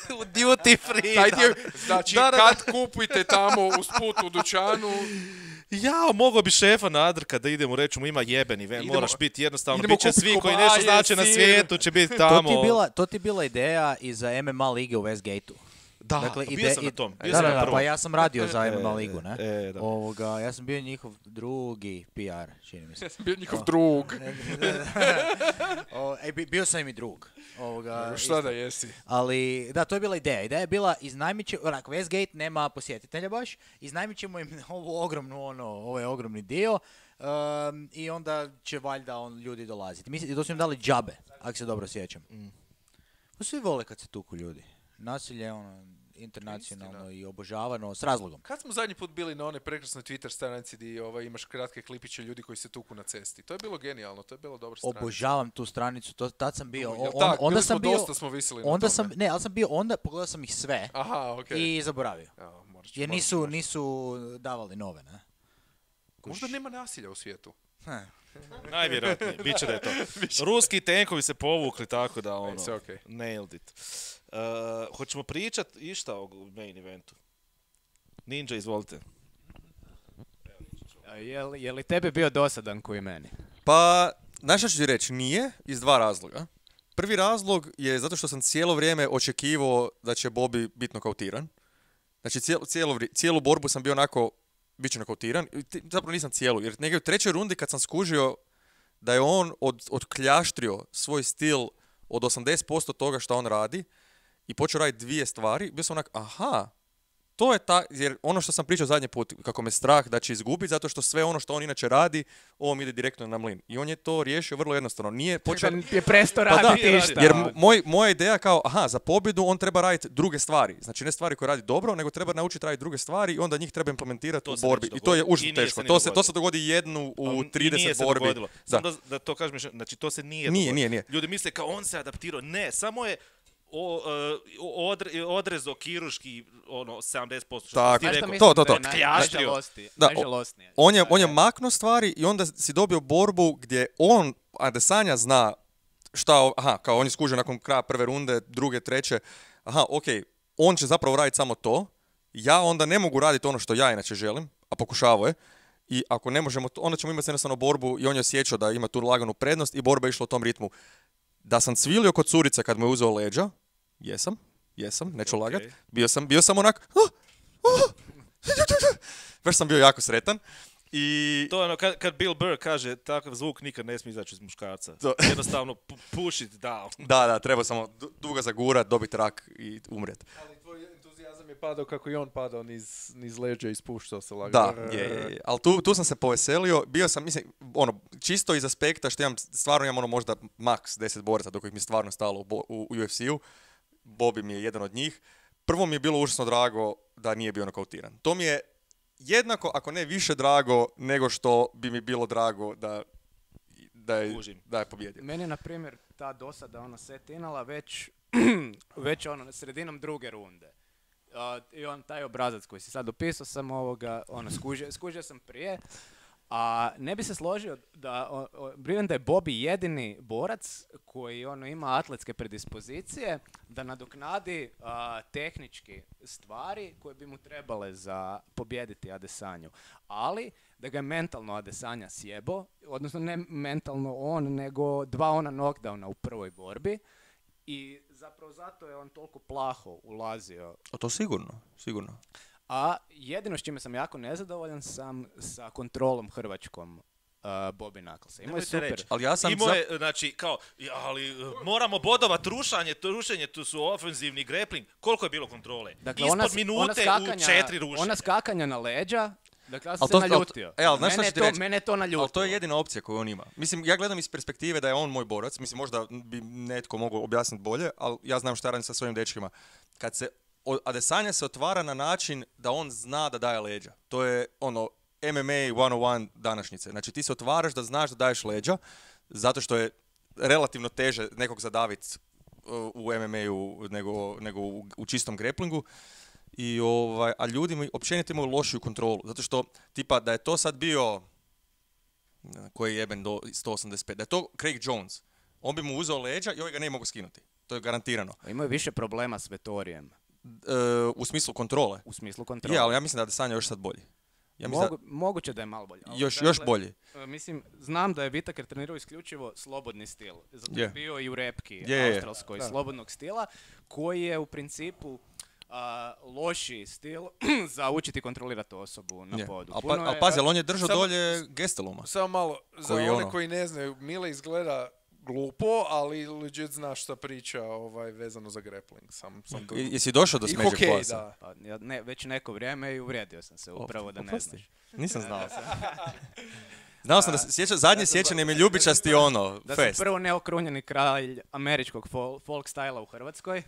duty free. Taj da. dio, znači, Da, da, da. kad kupite tamo usput u dućanu, Ja, mogao bi šefa nadrka da idemo, reći mu ima jebeni ven, Idemo- moraš biti jednostavno, idemo bit će kupit svi koji kobaje, nešto znače na sir. svijetu, će biti To tamo. ti, je bila, to ti je bila ideja i za M M A lige u Westgateu. Da, Dakle, bio ide- sam na i- tom, bio Da, sam da, na da, prvom. pa ja sam radio za E, M M A ligu, ne? e, da. Ovoga, ja sam bio njihov drugi P R, čini mi se. bio njihov drug. O, e, bi- bio sam im i drug. Ovoga, Šta isto. da jesi? Ali, da, to je bila ideja. Ideja je bila, iznajmit će, onak, Westgate nema posjetitelja baš, iznajmit ćemo im ovu ogromnu, ono, ovaj ogromni dio, um, i onda će valjda on, ljudi dolaziti. Mislim, to su im dali džabe, ako se dobro sjećam. Pa svi vole kad se tuku ljudi. Nasilje je ono, internacionalno Istina. i obožavano, s razlogom. Kad smo zadnji put bili na one prekrasnoj Twitter stranici gdje ovaj, imaš kratke klipiće ljudi koji se tuku na cesti. To je bilo genijalno, to je bilo dobro stranica. Obožavam tu stranicu, to, tad sam bio, Jel o- tak? on- onda Bili smo sam bio, dosta smo visili na onda tome. sam, ne, ali sam bio, onda pogledao sam ih sve Aha, okej. i zaboravio. Evo, morat ću- Jer morat ću- nisu, morat ću. nisu davali nove, ne? Možda nema nasilja u svijetu. Najvjerojatnije, bit će da je to. Ruski tenkovi se povukli tako da ono, sve okej. nailed it. Uh, hoćemo pričat išta o main eventu? Ninja, izvolite. A Je li, je li tebi bio dosadan koji meni? Pa, znaš šta ću ti reći, nije, iz dva razloga. Prvi razlog je zato što sam cijelo vrijeme očekivao da će Bobby biti nokautiran. Znači, cijelo, cijelo, vri- cijelu borbu sam bio onako, bit će nokautiran. I ti- Zapravo nisam cijelu, jer negdje u trećoj rundi kad sam skužio da je on od, odkljaštrio svoj stil od osamdeset posto toga što on radi i počeo raditi dvije stvari, bio sam onak, aha, to je ta, jer ono što sam pričao zadnji put, kako me strah da će izgubiti, zato što sve ono što on inače radi, ovo mi ide direktno na mlin. I on je to riješio vrlo jednostavno. Nije počeo... Da je presto Pa da, raditi jer išta. Jer m- moj, moja ideja kao, aha, za pobjedu on treba raditi druge stvari. Znači ne stvari koje radi dobro, nego treba naučiti raditi druge stvari i onda njih treba implementirati To u se borbi. neće I to je dogoditi. I užasno nije teško. se ni To se, to dogodilo. se dogodi jednu u Ali i nije trideset se borbi. dogodilo. Da. Samo da, da to kažem, još- znači to se nije Nije, dogodilo. nije, nije. Ljudi misle kao on se adaptirao. Ne, samo je o, uh, odre, odrezo kiruški ono sedamdeset posto što Tako. ti Znaš šta rekao. mislim To, to, to. da je naj- Kljaštrio. najžalosti- Da, o- najžalosnije? On je, Da on je maknuo stvari i onda si dobio borbu gdje on, Adesanya zna šta, o- aha, kao on je skužio nakon kraja prve runde, druge, treće, aha, okej, on će zapravo raditi samo to, ja onda ne mogu raditi ono što ja inače želim, a pokušavao je, i ako ne možemo, to, onda ćemo imati jednostavno borbu i on je osjećao da ima tu laganu prednost i borba je išla u tom ritmu. Da sam cvilio kod curice kad mu je uzeo leđa, jesam, jesam, neću Ok. lagat, bio sam, bio sam onak, "Ah, ah." baš sam bio jako sretan. I To je ono, kad, kad Bill Burr kaže takav zvuk nikad ne smije izaći iz muškarca. To- Jednostavno pu- push it down. da, da, treba samo du- dugo zagurat, dobiti rak i umrijet. Ali tvoj entuzijazam je padao kako i on padao niz, niz leđa i spuštao se lagano. Da, je, je, je. Ali tu, tu sam se poveselio, bio sam, mislim, ono, čisto iz aspekta što imam, stvarno imam ono možda maks deset boraca do kojih mi je stvarno stalo u, bo- u, u U F C-u. Bobby mi je jedan od njih. Prvo mi je bilo užasno drago da nije bio nokautiran. To mi je jednako, ako ne više drago, nego što bi mi bilo drago da, da, je, Kužim. da je pobjedio. Meni je, na primjer, ta dosada ona setinala već, već ono, na sredinom druge runde. Uh, I on, taj obrazac koji si sad opisao sam ovoga, ono, skužio, skužio sam prije. A ne bi se složio da, o, o, vjerujem da je Bobby jedini borac koji ono ima atletske predispozicije da nadoknadi a, tehnički stvari koje bi mu trebale za pobijediti Adesanju. Ali da ga je mentalno Adesanya sjebo, odnosno ne mentalno on, nego dva ona knockdowna u prvoj borbi. I zapravo zato je on toliko plaho ulazio. A to sigurno, sigurno. A jedino s čime sam jako nezadovoljan sam sa kontrolom hrvačkom uh, Bobby Knucklesa. Imao je Nemojte super. reći. Ali ja sam... Imao za- je, znači, kao, ja, ali uh, moramo bodovat rušanje, to rušenje, tu su ofenzivni grappling. Koliko je bilo kontrole? Dakle, Ispod ona, s- minute ona skakanja, u četiri rušenja. Ona skakanja na leđa, dakle ja sam Al se to- al to- naljutio. e, al znaš šta mene, ću ti je to, reći? mene je to naljutilo. Ali to je jedina opcija koju on ima. Mislim, ja gledam iz perspektive da je on moj borac. Mislim, možda bi netko mogao objasniti bolje, ali ja znam šta radim sa svojim dečkima. Kad se o- Adesanya se otvara na način da on zna da daje leđa. To je ono M M A sto jedan današnjice. Znači ti se otvaraš da znaš da daješ leđa, zato što je relativno teže nekog zadaviti u M M A-u nego, nego u, u čistom greplingu. I ovaj, a ljudi mi općenito imaju lošiju kontrolu, zato što tipa da je to sad bio koji je jeben do sto osamdeset pet, da je to Craig Jones, on bi mu uzeo leđa i ovaj ga ne mogu skinuti. To je garantirano. Imaju više problema s Vettorijem. E, u smislu kontrole. U smislu kontrole. Je, ali ja mislim da je Adesanya još sad bolji. Ja mislim Mogu, da, moguće da je malo bolje. ali još, dakle, još bolji. e, Mislim, znam da je Whittaker trenirao isključivo slobodni stil. Zato je Je. bio i u repki Je, je, je. australskoj slobodnog stila, koji je u principu a, loši stil za učiti kontrolirati osobu na Je. podu. Al, Puno pa, al je- pazi, ali on je držao Samo- dolje Gesteluma. Samo malo, za Koji one ono? koji ne znaju, Mile izgleda glupo, ali legit zna šta priča ovaj, vezano za grappling. Sam, sam tu. I- Jesi došao do I smeđeg hokej, pojasa? da. Pa, ja ne, već neko vrijeme i uvrijedio sam se, upravo da ne Oprosti. znaš. Nisam znao. Znao sam da se sjeća, zadnje sjećanje mi je ljubičasti ono, Da sam fest. prvo neokrunjeni kralj američkog fol- folk styla u Hrvatskoj.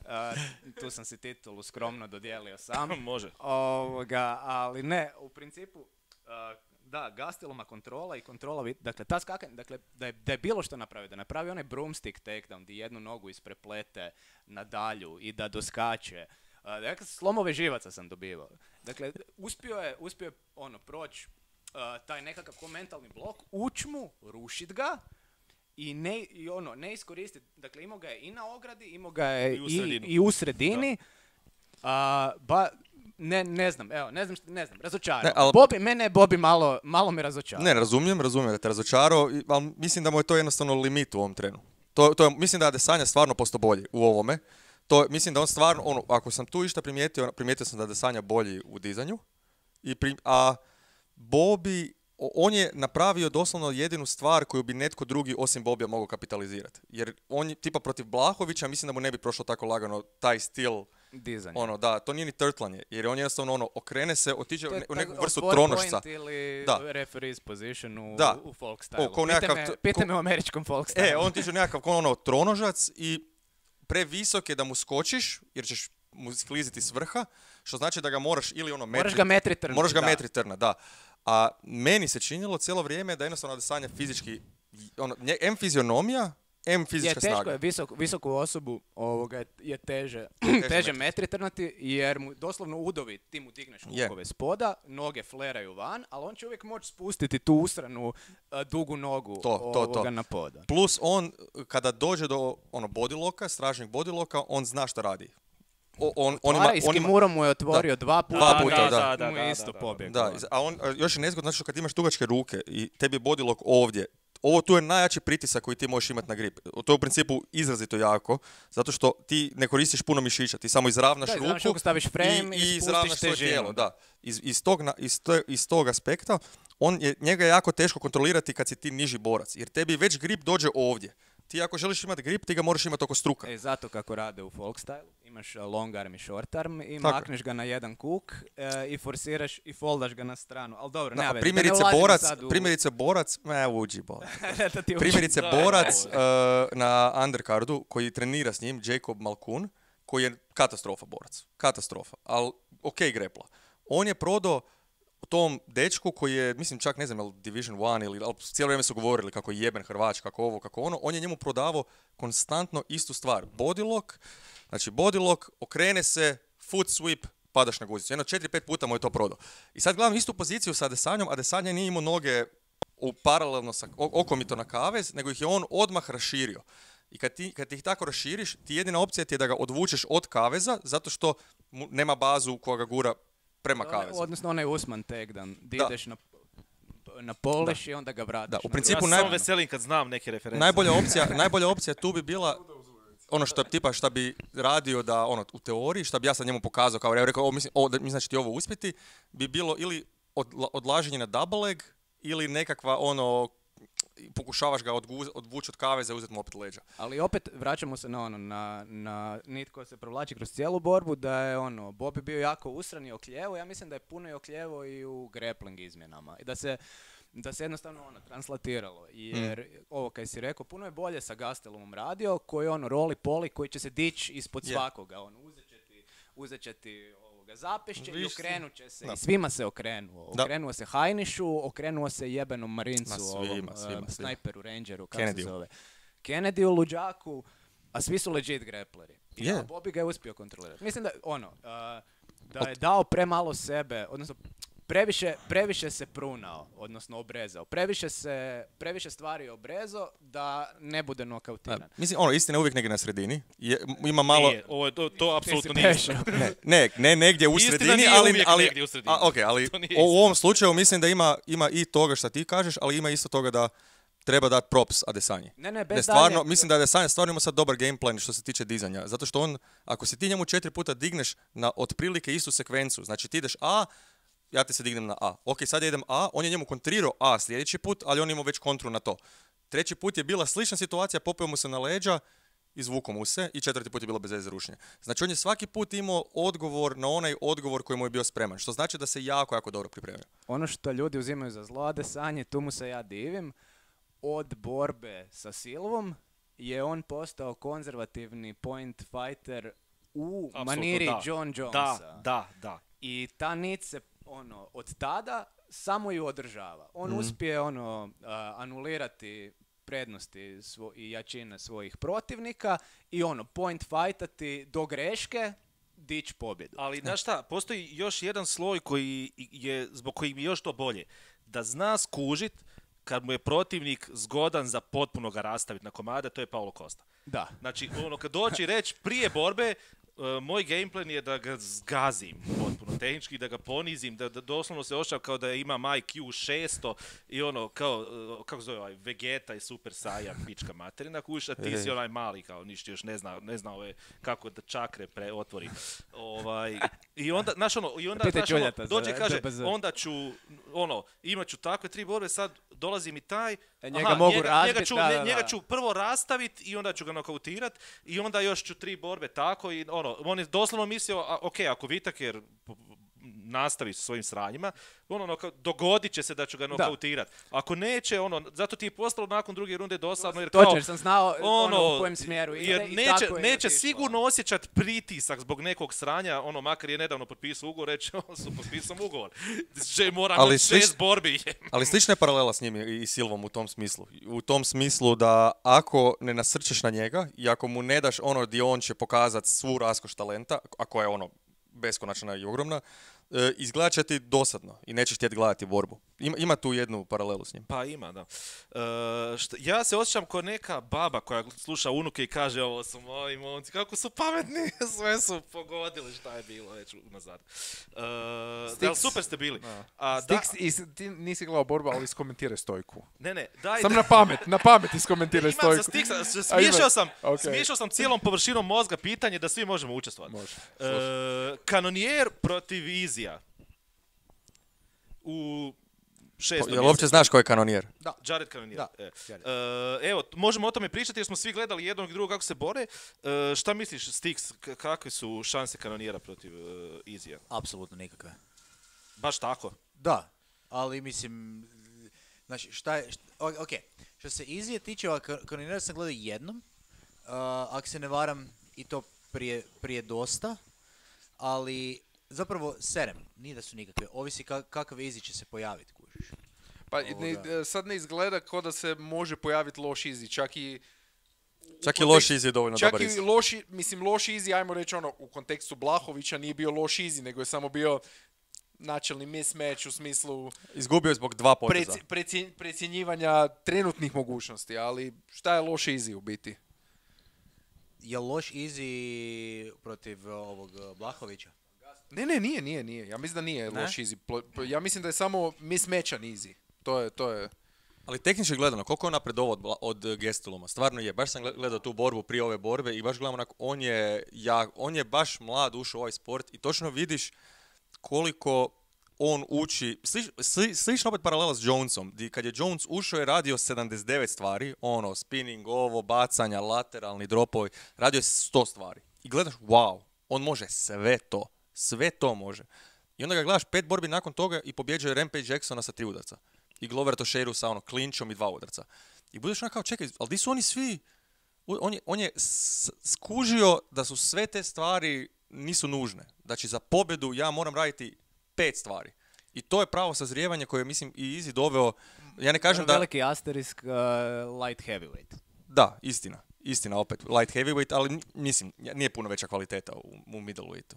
A, tu sam si titulu skromno dodijelio sam. Može. Ovoga, ali ne, u principu, a, da, Gasteluma kontrola i kontrola, vid- dakle, ta skakanja, dakle, da je, da je bilo što napravio, da napravi onaj broomstick takedown, di jednu nogu ispreplete na dalju i da doskače. A, dakle, slomove živaca sam dobivao. Dakle, uspio je, uspio je, ono, proći a, taj nekakav ko mentalni blok, uć mu, rušit ga, i ne, i ono, ne iskoristiti, dakle, imao ga je i na ogradi, imao ga je I u i, sredini. i u sredini, a, ba, ne, ne znam, evo, ne znam, šta, ne znam, razočarao. Ne, al- Bobby, mene je Bobby malo, malo me razočarao. Ne, razumijem, razumijem da te razočarao, i- ali mislim da mu je to jednostavno limit u ovom trenu. To, to je, mislim da je Adesanya stvarno postao bolji u ovome. To, mislim da on stvarno, ono, ako sam tu išta primijetio, primijetio sam da je Adesanya bolji u dizanju. I pri, a Bobby, o- on je napravio doslovno jedinu stvar koju bi netko drugi osim Bobija mogao kapitalizirati. Jer on je, tipa protiv Blahovića, mislim da mu ne bi prošlo tako lagano taj stil. Dizanje. Ono, da, to nije ni trtlanje, jer on jednostavno ono, okrene se, otiđe To u, je ne- u tak- neku vrstu four tronošca. point ili Da. referee's position u, Da. u folk O, stylu. kao Pitaj nekakav me, to- pitaj ko- me o američkom folk stylu. E, on tiče nekakav kao ono tronožac i previsok je da mu skočiš, jer ćeš mu skliziti s vrha, što znači da ga moraš ili ono metri... Moraš ga metri trniti, Moraš ga da. metri trna, da. A meni se činilo cijelo vrijeme da jednostavno Adesanya fizički, ono, nje- em fizionomija, em Je fizička teško snaga. je visok, visoku osobu ovoga je, je teže, Teže teže metri. metri trnati jer mu doslovno udovi, ti mu digneš Je. lukove spoda, noge fleraju van, ali on će uvijek moći spustiti tu usranu a, dugu nogu To, to, to. ovoga na poda. Plus on, kada dođe do ono bodiloka, stražnjeg bodiloka, on zna šta radi. O, on, on ima, Otvara, i s on ima, Kimurom mu je otvorio dva puta, Dva i puta, da. Da, mu je da, isto da, da. pobjegao. Da, a on, a još je nezgodno, znači što kad imaš dugačke ruke i tebi je bodilok ovdje, ovo tu je najjači pritisak koji ti možeš imati na grip. To je u principu izrazito jako, zato što ti ne koristiš puno mišića, ti samo izravnaš Da, ruku izravnaš ruku, staviš frame i i spustiš izravnaš svoje težinu. tijelo. Da. Iz, iz, tog, na- iz, to, iz tog aspekta, on je, njega je jako teško kontrolirati kad si ti niži borac, jer tebi već grip dođe ovdje. Ti ako želiš imati grip, ti ga moraš imati oko struka. E, zato kako rade u folk style, imaš uh, long arm i short arm i Tako je. makneš ga na jedan kuk e, i forsiraš i foldaš ga na stranu. Ali dobro, Da, nema a veze, da ne primjerice ulazimo borac, sad u- primjerice borac, ne, uđi borac. da ti uđe. Primjerice Da, borac da, uh, na undercardu koji trenira s njim, Jacob Malkoun, koji je katastrofa borac. Katastrofa. Ali ok grepla. On je prodao tom dečku koji je, mislim čak ne znam, jel Division one ili, ali cijelo vrijeme su govorili kako je jeben Hrvač, kako ovo, kako ono, on je njemu prodavao konstantno istu stvar. Body lock, znači body lock, okrene se, foot sweep, padaš na guzicu. Jedno četiri, pet puta mu je to prodao. I sad gledam istu poziciju sa Adesanjom, Adesanya nije imao noge u paralelno sa o- okomito na kavez, nego ih je on odmah raširio. I kad ti, kad ti ih tako raširiš, ti jedina opcija ti je da ga odvučeš od kaveza, zato što mu nema bazu koja ga gura prema Onaj- kavezu. Odnosno onaj Usman takedown, di Da. ideš na, na polish i onda ga vratiš. Da, u na principu drugu Ja naj- sam stranu. veselim kad znam neke referencije. Najbolja opcija, najbolja opcija tu bi bila ono što tipa šta bi radio da ono u teoriji, šta bi ja sad njemu pokazao kao ja rekao, o, mislim, o, da, mislim da će ti ovo uspjeti, bi bilo ili odla- odlaženje na double leg ili nekakva ono pokušavaš ga odguz- odvući od kaveza i uzeti mu opet leđa. Ali opet vraćamo se na ono, na, na nit koja se provlači kroz cijelu borbu, da je ono, Bobby bio jako usran i okljevo, ja mislim da je puno i okljevo i u grappling izmjenama. I da se, da se jednostavno ono, translatiralo. Jer, ovo kaj si rekao, puno je bolje sa Gastelumom radio, koji ono, roli poli, koji će se dići ispod Je. svakoga. Ono, uzet će ti, uzet će ti ovoga zapešće i Viš- okrenut će se. Da. I svima se okrenuo. Da. Okrenuo se Hajnišu, okrenuo se jebenom Marincu, Ma, svima, ovom, svima, eh, svima. snajperu, rangeru, kako se Kennedyu. zove. Kennedy u luđaku, a svi su legit grepleri. Je. A Bobby ga je uspio kontrolirati. Mislim da, ono, uh, da je dao premalo sebe, odnosno previše, previše se prunao, odnosno obrezao. Previše se, previše stvari obrezao da ne bude nokautiran. A, mislim, ono, istina je uvijek negdje na sredini. Je, ima malo... Nije, ovo je, to, to apsolutno Ti si nije prešao. istina. Ne, ne, ne negdje u Istina sredini, nije ali... uvijek ali negdje u sredini. a, okay, ali To nije u, u istina. ovom slučaju mislim da ima, ima i toga što ti kažeš, ali ima isto toga da treba dati props Adesanji. Ne, ne, bez Ne, stvarno, daljnjeg- mislim da Adesanya stvarno ima sad dobar game plan što se tiče dizanja. Zato što on, ako se ti njemu četiri puta digneš na otprilike istu sekvencu, znači ti ideš A, ja ti se dignem na A. Ok, sad ja idem A, on je njemu kontrirao A sljedeći put, ali on ima već kontru na to. Treći put je bila slična situacija, popeo mu se na leđa, izvuko mu se i četvrti put je bilo bez veze rušenje. Znači on je svaki put imao odgovor na onaj odgovor koji mu je bio spreman, što znači da se jako, jako dobro pripremio. Ono što ljudi uzimaju za zlo Adesanje, tu mu se ja divim, od borbe sa Silvom je on postao konzervativni point fighter u Apsolutno maniri da. John Jonesa. Da, da, da. I ta nit se, ono, od tada samo ju održava. On Mhm. uspije, ono, a, anulirati prednosti svo- i jačine svojih protivnika i, ono, point fightati do greške, dić pobjedu. Ali, znaš šta, postoji još jedan sloj koji je, zbog kojeg mi je još to bolje. Da zna skužit kad mu je protivnik zgodan za potpuno ga rastaviti na komade, to je Paulo Costa. Da. Znači, ono, kad doći reći prije borbe, uh, moj gameplan je da ga zgazim potpuno tehnički, da ga ponizim, da, da doslovno se ošav kao da imam I Q šesto i ono, kao, uh, kako zove ovaj, Vegeta i Super Saiyan, pička materina, kuš, a ti si onaj mali, kao ništa još ne zna, ne zna ove, kako da čakre pre otvori. Ovaj, I onda, znaš ono, i onda, Pitaj znaš, ono, Čuljata za dođe i kaže, D B Z. onda ću, ono, imat ću takve tri borbe, sad dolazi mi taj, E, njega mogu njega, razbit, njega ću, da, ne- da, njega da. ću prvo rastaviti i onda ću ga nokautirat i onda još ću tri borbe tako i ono, on je doslovno mislio, a, ok, ako Whittaker p- nastavi sa svojim sranjima, ono, noka- dogodit će se da ću ga nokautirat. Ako neće, ono, zato ti je postalo nakon druge runde dosadno, jer kao, Točno, jer sam znao ono, u kojem smjeru ide jer i neće, tako je neće otišlo. sigurno osjećat pritisak zbog nekog sranja, ono, makar je nedavno potpisao ugovor, reći, on su potpisao ugovor. Že moram Ali imati šest slič- borbi. Ali slična je paralela s njim i i Silvom u tom smislu. U tom smislu da ako ne nasrčeš na njega i ako mu ne daš ono gdje on će pokazati svu raskoš talenta, a koja je ono beskonačna i ogromna, e, izgledat će ti dosadno i nećeš htjeti gledati borbu. Ima, ima tu jednu paralelu s njim. Pa ima, da. E, šta- ja se osjećam kao neka baba koja sluša unuke i kaže ovo su moji momci, kako su pametni, sve su pogodili šta je bilo već unazad. E, da, super ste bili. A, da, Stix, i, s- ti nisi gledao borbu, ali iskomentiraj stojku. ne, ne, daj, Sam daj. na pamet, na pamet iskomentiraj Imam za stojku. Stixa, s- A, ima. smiješao sam, Ok. smiješao sam cijelom površinom mozga pitanje da svi možemo učestvovati. Može. E, kanonijer protiv Izija. U šestom Jel uopće znaš ko je kanonijer? Jared Cannonier. Da, E. Jared. E, evo, možemo o tome pričati jer smo svi gledali jednog i drugog kako se bore. E, šta misliš, Stix, k- kakve su šanse Cannoniera protiv uh, Izija? Apsolutno nikakve. Baš tako? Da, ali mislim, znači šta je, šta, o- ok, što se Izije tiče, ova Cannoniera sam gledao jednom, uh, ako se ne varam i to prije, prije dosta, ali zapravo serem, nije da su nikakve, ovisi ka, kakav Izije će se pojaviti, kužiš. Pa ne, Ovoga. sad ne izgleda kao da se može pojaviti loš izi, čak i... Čak i u loš kontekstu- Izzy je dovoljno Čak dobar i Izzy. loši, mislim loš izi, ajmo reći ono, u kontekstu Blahovića nije bio loš izi, nego je samo bio načelni mismatch u smislu Izgubio je zbog dva poteza. preci, preci- precjenjivanja trenutnih mogućnosti, ali šta je loš izi u biti? Je loš Izije protiv uh, ovog uh, Blahovića? Ne, ne, nije, nije, nije. Ja mislim da nije Ne? loš izi. Plo- Ja mislim da je samo mismatchan izi. To je, to je... Ali tehnički gledano, koliko je on napredovao od, Bla- od uh, Gasteluma? Stvarno je. Baš sam gle- gledao tu borbu prije ove borbe i baš gledam onako, on je, ja, on je baš mlad ušao u ovaj sport i točno vidiš koliko on uči, slič, sli, slično opet paralela s Jonesom, di kad je Jones ušao je radio sedamdeset devet stvari, ono, spinning, ovo, bacanja, lateralni dropovi, radio je sto stvari. I gledaš, wow, on može sve to, sve to može. I onda ga gledaš pet borbi nakon toga i pobjeđuje Rampage Jacksona sa tri udarca. I Glover Teixeiru sa ono, klinčom i dva udarca. I budeš onako kao, čekaj, ali di su oni svi? U- On je, on je s- skužio da su sve te stvari nisu nužne. Znači za pobjedu ja moram raditi pet stvari. I to je pravo sazrijevanje koje je, mislim, i Izzy doveo. Ja ne kažem da... Veliki asterisk, uh, light heavyweight. Da, istina. istina opet, light heavyweight, ali mislim, nije puno veća kvaliteta u, u middleweightu.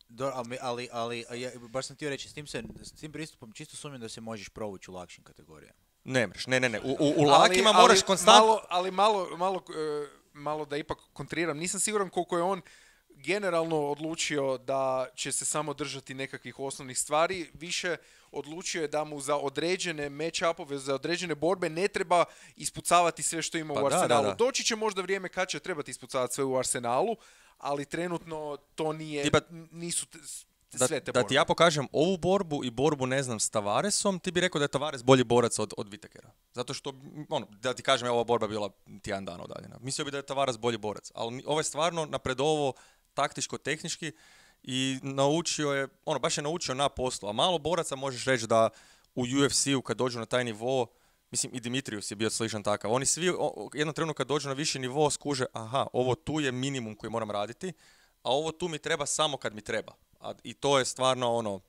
Do, ali, ali, ali ja, baš sam htio reći, s tim, se, s tim pristupom čisto sumnjam da se možeš provući u lakšim kategorijama. Ne mreš, ne, ne, ne, u, u, u lakima ali, moraš ali, konstantno... Malo, ali malo, malo, uh, malo da ipak kontriram, nisam siguran koliko je on generalno odlučio da će se samo držati nekakvih osnovnih stvari, više odlučio je da mu za određene match-upove, za određene borbe ne treba ispucavati sve što ima pa u arsenalu. Da, da, da. Doći će možda vrijeme kad će trebati ispucavati sve u arsenalu, ali trenutno to nije, Tipa, nisu te, da, sve te da borbe. ti ja pokažem ovu borbu i borbu, ne znam, s Tavaresom, ti bi rekao da je Tavares bolji borac od, od Whittakera. Zato što, ono, da ti kažem, ova borba bila tjedan dana udaljena. Mislio bi da je Tavares bolji borac, ali ovo je stvarno napredovo taktičko-tehnički i naučio je, ono, baš je naučio na poslu, a malo boraca možeš reći da u U F C-u kad dođu na taj nivo, mislim i Dimitrius je bio sličan takav, oni svi o, jednom trenutku kad dođu na viši nivo skuže, aha, ovo tu je minimum koji moram raditi, a ovo tu mi treba samo kad mi treba. A, i to je stvarno ono,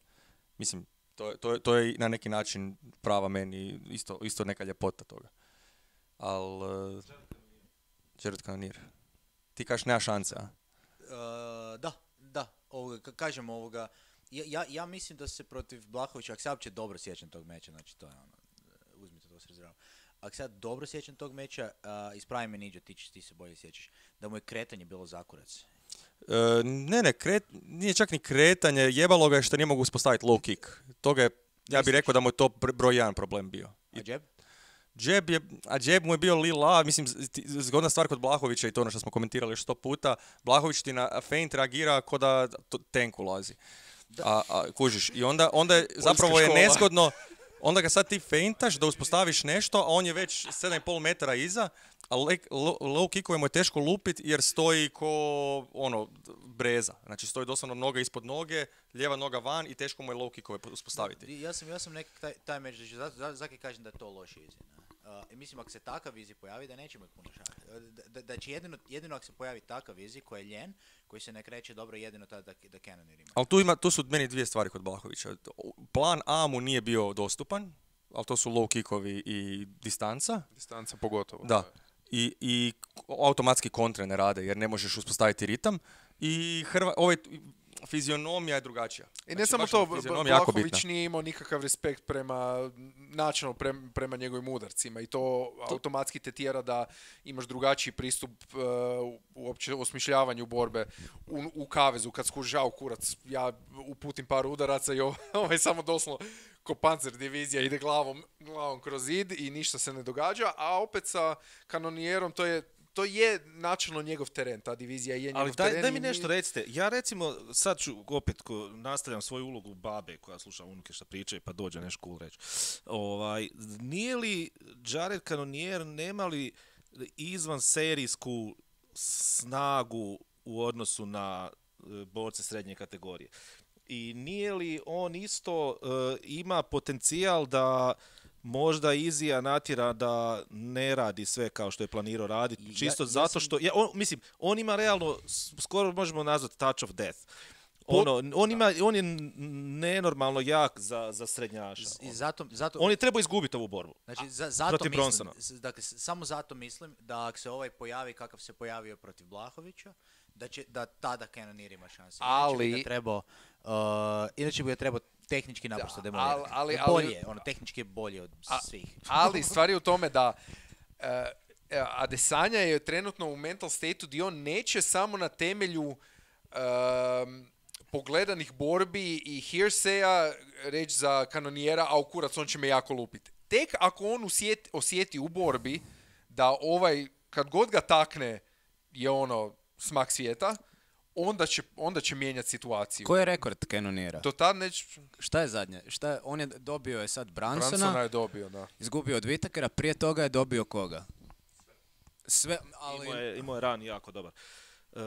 mislim, to, to, to je na neki način prava meni, isto, isto neka ljepota toga. Al, uh, Jared Cannonier, ti kažeš nema šanse, a? Uh, da, da, ovoga, kažem ovoga, ja, ja, ja mislim da se protiv Blachowicza, ako se uopće dobro sjećam tog meča, znači to je ono, uzmite to s rezervom. Ako se ja dobro sjećam tog meča, uh, ispravi me Niđo, ti, ti se bolje sjećaš, da mu je kretanje bilo zakurac. Uh, ne, ne, kret, nije čak ni kretanje, jebalo ga je što nije mogu uspostaviti low kick. Toga je, ja bih rekao da mu je to broj jedan problem bio. A jab? Jab je, a jab mu je bio lila, mislim, zgodna stvar kod Blachowicza i to ono što smo komentirali sto puta, Blachowicz ti na feint reagira ko da tank ulazi. A, a, kužiš, i onda, onda je, zapravo je nezgodno, onda ga sad ti feintaš da uspostaviš nešto, a on je već sedam i pol metara iza, a low kickove mu je teško lupit jer stoji ko ono, breza. Znači stoji doslovno noga ispod noge, lijeva noga van i teško mu je low kickove uspostaviti. Ja sam, ja sam neki taj, taj meč, znači, zato, zato kažem da je to loš izi. Uh, mislim, ako se takav izi pojavi, da nećemo ih puno šati. Da, da, da će jedino, jedino ako se pojavi takav izi koji je ljen, koji se ne kreće dobro, jedino tada da, da Cannonier ima. Ali tu, ima, tu su meni dvije stvari kod Blachowicza. Plan A mu nije bio dostupan, ali to su low kickovi i distanca. Distanca pogotovo. Da. I, i automatski kontre ne rade jer ne možeš uspostaviti ritam. I Hrva, ovaj, fizionomija je drugačija. I ne znači, samo to, Blachowicz nije imao nikakav respekt prema načinu prema, prema njegovim udarcima i to, to automatski te tjera da imaš drugačiji pristup uh, uopće osmišljavanju borbe u, u kavezu kad skužao kurac. Ja uputim par udaraca i ovaj samo doslovno ko Panzer divizija ide glavom, glavom kroz zid i ništa se ne događa, a opet sa Cannonierom to je To je načelno njegov teren, ta divizija je njegov ali daj, teren. Daj mi nešto recite, ja recimo sad ću opet ko nastavljam svoju ulogu babe koja sluša unuke šta pričaju pa dođe nešto cool reći. Ovaj, nije li Jared Cannonier nema li izvan serijsku snagu u odnosu na borce srednje kategorije? I nije li on isto uh, ima potencijal da možda Izija natjera da ne radi sve kao što je planirao raditi, čisto ja, ja zato sam... što, ja, on, mislim, on ima realno, skoro možemo nazvati touch of death. Ono, on, ima, on je nenormalno jak za, za srednjaša. I zato, zato... On je trebao izgubiti ovu borbu. Znači, za, zato mislim, dakle, samo zato mislim da ako se ovaj pojavi kakav se pojavio protiv Blachowicza, da će da tada Cannonier ima šanse. Ali... Inače bi ga trebao, uh, inače bi ga trebao tehnički naprosto demolirati. Ali, ali, bolje, ono, tehnički je bolje od a, svih. Ali stvar je u tome da uh, Adesanya je trenutno u mental state-u gdje on neće samo na temelju um, pogledanih borbi i hearsaya reći za Cannoniera, a u kurac on će me jako lupiti. Tek ako on osjeti, osjeti u borbi da ovaj, kad god ga takne je ono smak svijeta, onda će, onda će mijenjati situaciju. Koji je rekord Cannoniera? Do tad neć... Šta je zadnje? Šta je, on je dobio je sad Bransona. Bransona je dobio, da. Izgubio od Whittakera, prije toga je dobio koga? Sve, ali... Imao je, imao je ran jako dobar. Uh,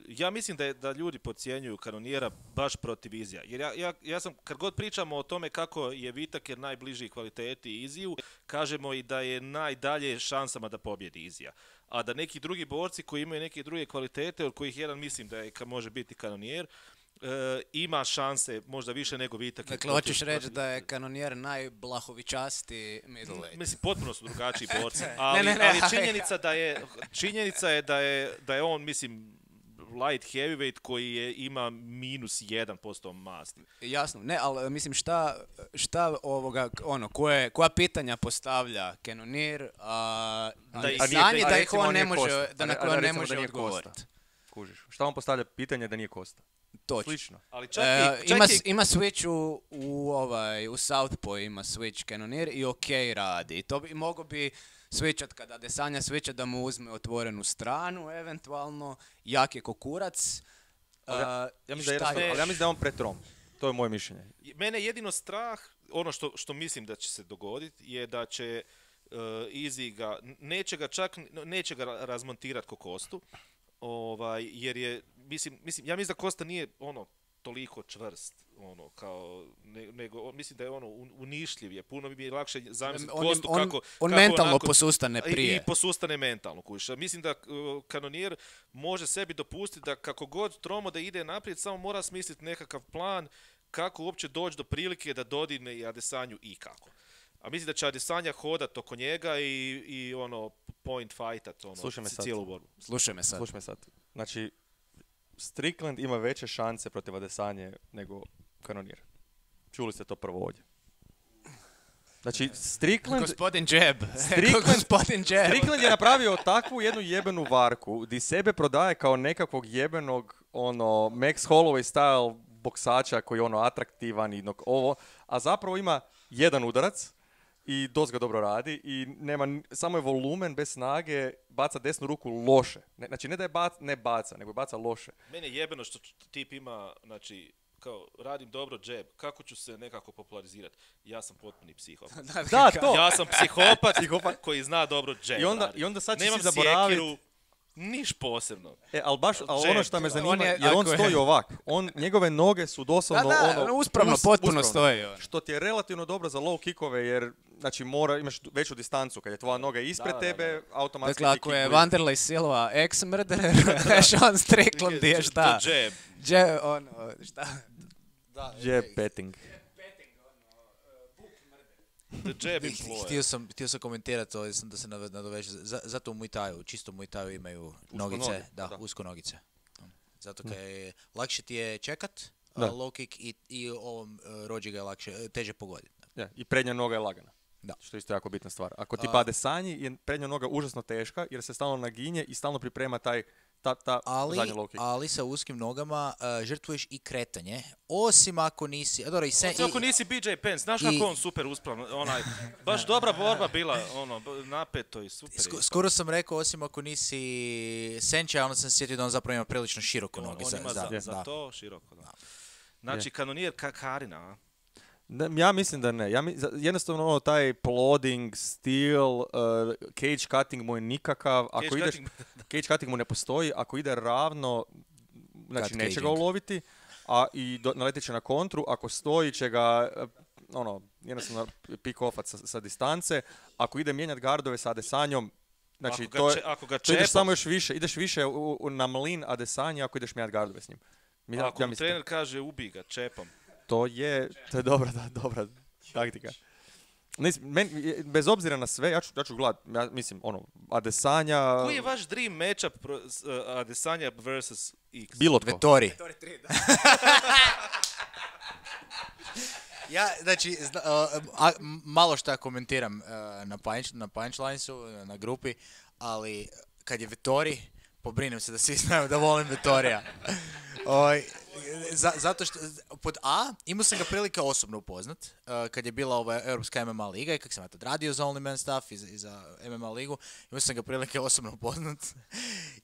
ja mislim da, je, da ljudi podcjenjuju Cannoniera baš protiv Izija. Jer ja, ja, ja sam, kad god pričamo o tome kako je Whittaker najbliži kvaliteti Iziju, kažemo i da je najdalje šansama da pobjedi Izija. A da neki drugi borci koji imaju neke druge kvalitete, od kojih jedan mislim da je, može biti Cannonier, e, ima šanse možda više nego Vitak. Dakle, hoćeš reći da je kanonijer najblahovičastiji middleweight. Mislim, potpuno su drugačiji borci, ali, ne, ne, ali ne. činjenica, da je, činjenica je da je da je on, mislim, light heavyweight koji je, ima minus jedan posto masti. Jasno, ne, ali mislim šta, šta ovoga, ono, koje, koja pitanja postavlja kanonijer, a, Da da, ih- da, a nije- da a ih on ne može, Kosta. da na A koje on ne recimo da može nije odgovoriti. Kosta. Kužiš. Šta on postavlja pitanje da nije Kosta? Točno. Slično. Ali čak E, i, čak ima, i- s- ima switch u, u, ovaj, u Southpaw ima switch kanonijer i ok radi. I to bi, mogo bi switchat kada Adesanya switchat da mu uzme otvorenu stranu, eventualno, jak je ko kurac. Ali ja, Uh, ja mislim da je šta jednostavno- još? ali ja mislim da je on pretrom. To je moje mišljenje. Mene je jedino strah, ono što, što mislim da će se dogoditi, je da će uh, Izzy ga, neće ga čak, neće ga ra- razmontirati ko Kostu, ovaj, jer je, mislim, mislim, ja mislim da Kosta nije ono toliko čvrst, ono, kao, ne- nego, on- mislim da je ono, un- unišljiv je, puno bi mi je lakše zamisliti On, Kostu on, kako... on kako mentalno onako- posustane I, prije. i posustane mentalno, kužiš. A mislim da uh, kanonijer može sebi dopustiti da kako god tromo da ide naprijed, samo mora smisliti nekakav plan kako uopće doći do prilike da dodine i Adesanju i kako. A mislim da će Adesanja hodat oko njega i, i ono, point fightat, ono, Slušaj me c- sad. cijelu borbu. Slušaj me sad. Slušaj me sad. Znači, Strickland ima veće šanse protiv Adesanje nego kanonijer. Čuli ste to prvo ovdje. Znači, Strickland... Gospodin Jeb. Strickland- Gospodin Jeb. Strickland je napravio takvu jednu jebenu varku di sebe prodaje kao nekakvog jebenog ono Max Holloway style boksača koji je ono atraktivan i nok- ovo, a zapravo ima jedan udarac i dosta ga dobro radi i nema, n- samo je volumen bez snage, baca desnu ruku loše. Ne, znači ne da je bac, ne baca, nego baca loše. Mene je jebeno što tip ima, znači, kao, radim dobro džeb, kako ću se nekako popularizirati? Ja sam potpuni psihopat. Da, to! Ja sam psihopat, koji zna dobro džeb I onda- radit. i onda sad će Nemam si zaboravit- sjekiru, niš posebno. E, ali baš, ali Jab. ono što me zanima, On je- jer on ako je- stoji ovak. On, njegove noge su Da, doslovno da, ono... uspravno, us- potpuno uspravno. stoji. ono. Što ti je relativno dobro za low kickove, jer znači mora, imaš veću distancu. Kad je tvoja noga ispred Da, da, tebe, automatski Dakle, ti ako je kickovi- Wanderlei Silva ex-murderer, Sean Strickland je šta? To džeb. Je, ono, šta? Jab betting. The jab Htio employer. sam, htio sam komentirati to, da se nave- nadoveže. Za- Zato u Muay Thaiu, čisto u Muay Thaiu imaju nogice, noge, da, da. usko nogice. Zato kaj je, lakše ti je čekat, Da. a, low kick i, i ovom uh, rođi ga je lakše, e, teže pogoditi. Ja, i prednja noga je lagana. Da. Što je isto jako bitna stvar. Ako ti A- pade sanji, je prednja noga užasno teška, jer se stalno naginje i stalno priprema taj, ta, ta Ali, zadnji low kick. ali sa uskim nogama uh, žrtvuješ i kretanje, osim ako nisi, a dobro, i se, Osim ako i- nisi B J Penn, znaš i- kako on super uspravno, onaj, baš dobra borba bila, ono, b- napeto i super. Sk- je. skoro sam rekao, osim ako nisi Senča, onda sam se sjetio da on zapravo ima prilično široko On, noge. on za, ima za- za, za da. to široko, da. Znači, kanonijer Kakarina, a? Ne, ja mislim da ne. Ja mi, za- jednostavno ono, taj plodding, stil, uh, cage cutting mu je nikakav. Ako Cage ideš, cutting- cage cutting mu ne postoji. Ako ide ravno, znači Cut neće ga caging. uloviti, a i do, naletit će na kontru. Ako stoji će ga, uh, ono, jednostavno pick offat sa, sa distance. Ako ide mijenjati gardove sa Adesanjom, znači Ako ga to, je, če- ako ga to ideš čepa- samo još više, ideš više u, u, na mlin Adesanja ako ideš mijenjati gardove s njim. Mi- Ako ja mu mislim, trener kaže ubi ga, čepam. to je, to je dobra, da, dobra taktika. Nis, men, je- bez obzira na sve, ja ću, ja ću gledat, ja mislim, ono, Adesanja, Koji je vaš dream matchup pro, s, uh, Adesanya versus X? bilo tko. Vettori. Ja, znači, zna- uh, a, m- malo šta komentiram uh, na, punch, na punchlinesu, uh, na grupi, ali kad je Vettori, pobrinem se da svi znaju da volim Vettorija. Oj, za, zato što, pod A, imao sam ga prilike osobno upoznat, uh, kad je bila ova Europska M M A liga i kak sam ja tad radio za Only Man Stuff i za, i za M M A ligu, imao sam ga prilike osobno upoznat.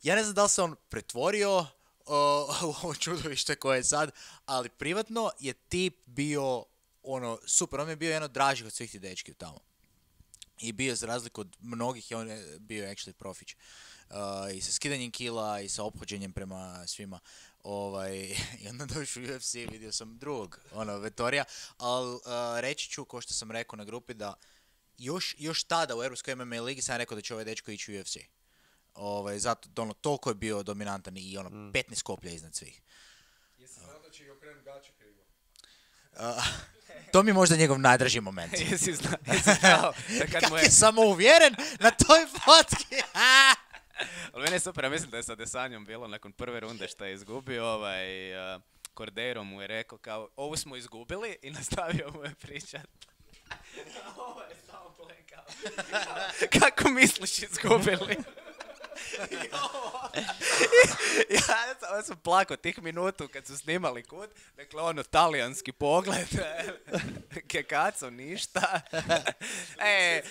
Ja ne znam da li se on pretvorio o, u ovo čudovište koje je sad, ali privatno je tip bio ono super, on mi je bio jedan od dražih od svih tih dečki tamo. I bio za razliku od mnogih, i on je bio actually profić. Uh, I sa skidanjem kila i sa ophođenjem prema svima. Ovaj, I onda došao u U F C, vidio sam drugog, ono, Vettorija, ali uh, reći ću, ko što sam rekao na grupi, da još, još tada u Europskoj M M A ligi sam rekao da će ovaj dečko ići u U F C. Ovaj, zato, ono, toliko je bio dominantan i ono, Mm. petnaest koplja iznad svih. Jesi znao da će i Uh, to mi je možda njegov najdraži moment. Jesi zna, jesi znao da kad Kak mu je je... samouvjeren na toj fotki. Ali meni je super, ja mislim da je sa Desanjom bilo nakon prve runde što je izgubio, ovaj, uh, Cordero mu je rekao kao, ovu smo izgubili i nastavio mu je pričat. Ovo je samo plekao. Kako misliš izgubili? I ovo. Ja sam, sam plakao tih minutu kad su snimali kut, dakle ono talijanski pogled, kekaco ništa. E,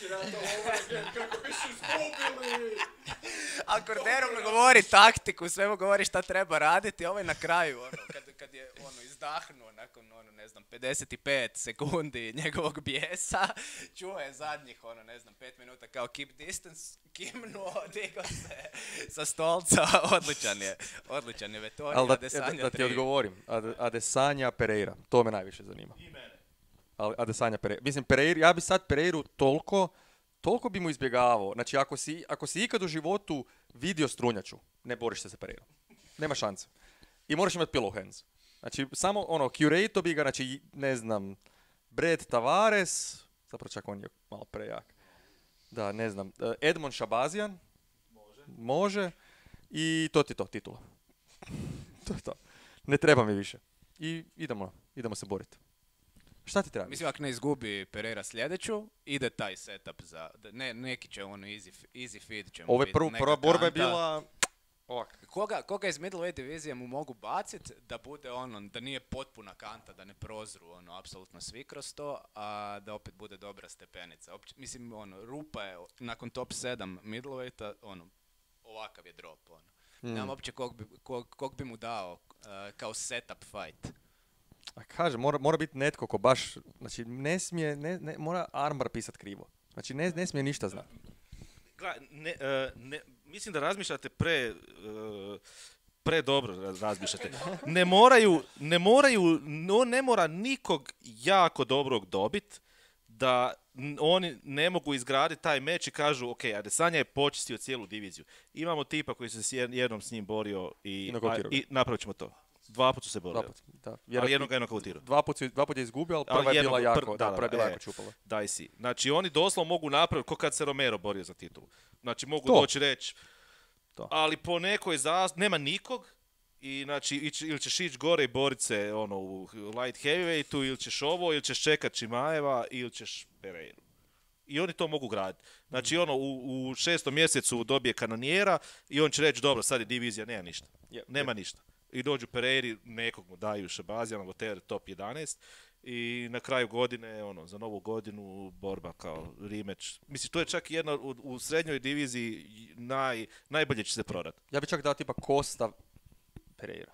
a Cordero mu govori taktiku, sve mu govori šta treba raditi, ovaj na kraju, ono, kad, kad je ono izdahnuo nakon, ono, ne znam, pedeset pet sekundi njegovog bijesa, čuo je zadnjih, ono, ne znam, pet minuta kao keep distance, kimnuo, digao se sa stolca, odličan je, odličan je Vettori, Ali da, Adesanya da, da ti tri. odgovorim, Ade- Adesanya Pereira, to me najviše zanima. I mene. Ali Adesanya Pereira, mislim Pereira, ja bi sad Pereiru toliko, toliko bi mu izbjegavao. Znači ako si, ako si ikad u životu vidio strunjaču, ne boriš se sa Pereirom. Nema šanse. I moraš imati pillow hands. Znači samo ono, curato bi ga, znači ne znam, Brad Tavares, zapravo čak on je malo prejak. Da, ne znam, Edmond Shabazian, može, može i to ti to, titula. To je to. Ne treba mi više. I idemo, idemo se boriti. Šta ti treba? Mislim, ako ne izgubi Pereira sljedeću, ide taj setup za... Ne, neki će ono easy, easy feed će mu Ove biti, prvu, neka prva borba je kanta. bila ovak. Koga, koga iz middleweight divizije mu mogu bacit da bude ono, da nije potpuna kanta, da ne prozru ono, apsolutno svi kroz to, a da opet bude dobra stepenica. Opće, mislim, ono, rupa je nakon top sedam middleweighta, ono, ovakav je drop, ono. Mm. Nemam uopće kog bi, kog, kog bi mu dao uh, kao setup fight. A kaže, mora, mora biti netko ko baš, znači ne smije, ne, ne, mora armbar pisat krivo. Znači ne, ne smije ništa znati. Gle, ne, e, ne, mislim da razmišljate pre, e, pre dobro raz- razmišljate. Ne moraju, ne moraju, no, ne mora nikog jako dobrog dobit da n- oni ne mogu izgraditi taj meč i kažu ok, Adesanya je počistio cijelu diviziju. Imamo tipa koji se s jed- jednom s njim borio i, I nokautirao a- i napravit ćemo to. Dva puta su se Dva borili. put, da. Ali jednog ga je nokautirao. Dva put, su- dva put je izgubio, ali Ali prva je jednog- bila jako, pr- da, da, prva je bila da, jako e. čupala. Daj si. Znači oni doslovno mogu napraviti, ko kad se Romero borio za titulu. Znači mogu To. doći reći, To. ali po nekoj zas... nema nikog i znači ići- ili ćeš ići gore i borit se ono, u light heavyweightu, ili ćeš ovo, ili ćeš čekat Čimajeva, ili ćeš Pereiru. I oni to mogu graditi. Znači ono, u, u šestom mjesecu dobije kanonijera i on će reći, dobro, sad je divizija, nema ništa. Yep, Nema yep. ništa. I dođu Pereiri, nekog mu daju Šabazijana, Voter, top jedanaest. I na kraju godine, ono, za novu godinu, borba kao rematch. Mislim, to je čak jedna u, u srednjoj diviziji naj, najbolje će se prodati. Ja bi čak dao tipa Costa Pereira.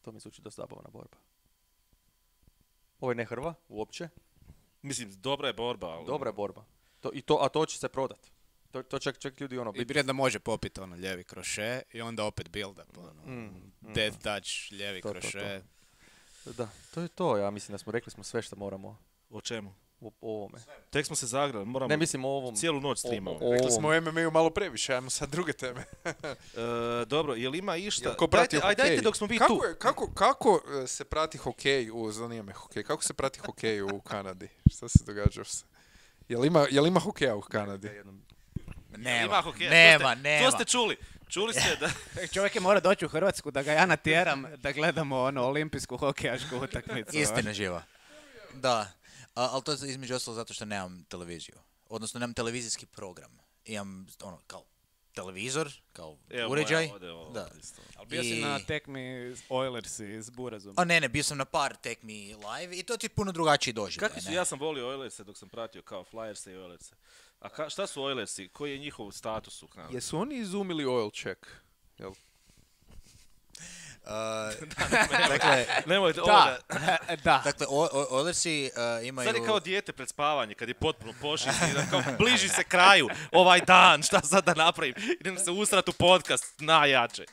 To mi zvuči dosta zabavna borba. Ovo je ne Hrva, uopće. Mislim, dobra je borba. Ali... Dobra je borba. To, i to, a to će se prodat. To, to čak, čak ljudi ono... I prije da može popiti ono ljevi kroše i onda opet build up, ono, Mm, mm, death touch, ljevi To, to, to. kroše. Da, to je to. Ja mislim da smo rekli smo sve što moramo O čemu? u o ovome. Tek smo se zagrali, moramo Ne mislim o ovom... cijelu noć streamamo. o- o- Rekli smo o M M A-u malo previše, ajmo sad druge teme. E, dobro, jel ima išta? Jel ko prati Dajte, aj, hokej? dajte dok smo vi kako, tu. je- kako, kako e, se prati hokej u, zanima me hokej, kako se prati hokej u Kanadi? Šta se događa se? Jel ima, jel ima hokeja u Kanadi? Nema, Ima hokeja, to nema, ste- nema. To ste čuli. Čuli ste da... Čovjek je mora doći u Hrvatsku da ga ja natjeram da gledamo ono olimpijsku hokejašku utakmicu. Istina živa. Da, a, ali to je između ostalo zato što nemam televiziju. Odnosno nemam televizijski program. Imam ono kao televizor, kao Evo, uređaj. moja ode, ovo, Da. isto. Ali bio si I- na tekmi Oilersi s Burazom. A ne, ne, bio sam na par tekmi live i to ti je puno drugačiji doživljaj. Kakvi su, ne? ja sam volio Oilerse dok sam pratio kao Flyerse i Oilerse. A ka, šta su Oilersi? Koji je njihov status u Kanadi? Jesu oni izumili oil check? Jel? Uh, dakle, Nemojte, Da, ovoga, da. dakle, o- o- Oilersi uh, imaju... sad je kao dijete pred spavanje, kad je potpuno pošistan, kao bliži se kraju ovaj dan, šta sad da napravim? Idem se usrat u podcast, najjače.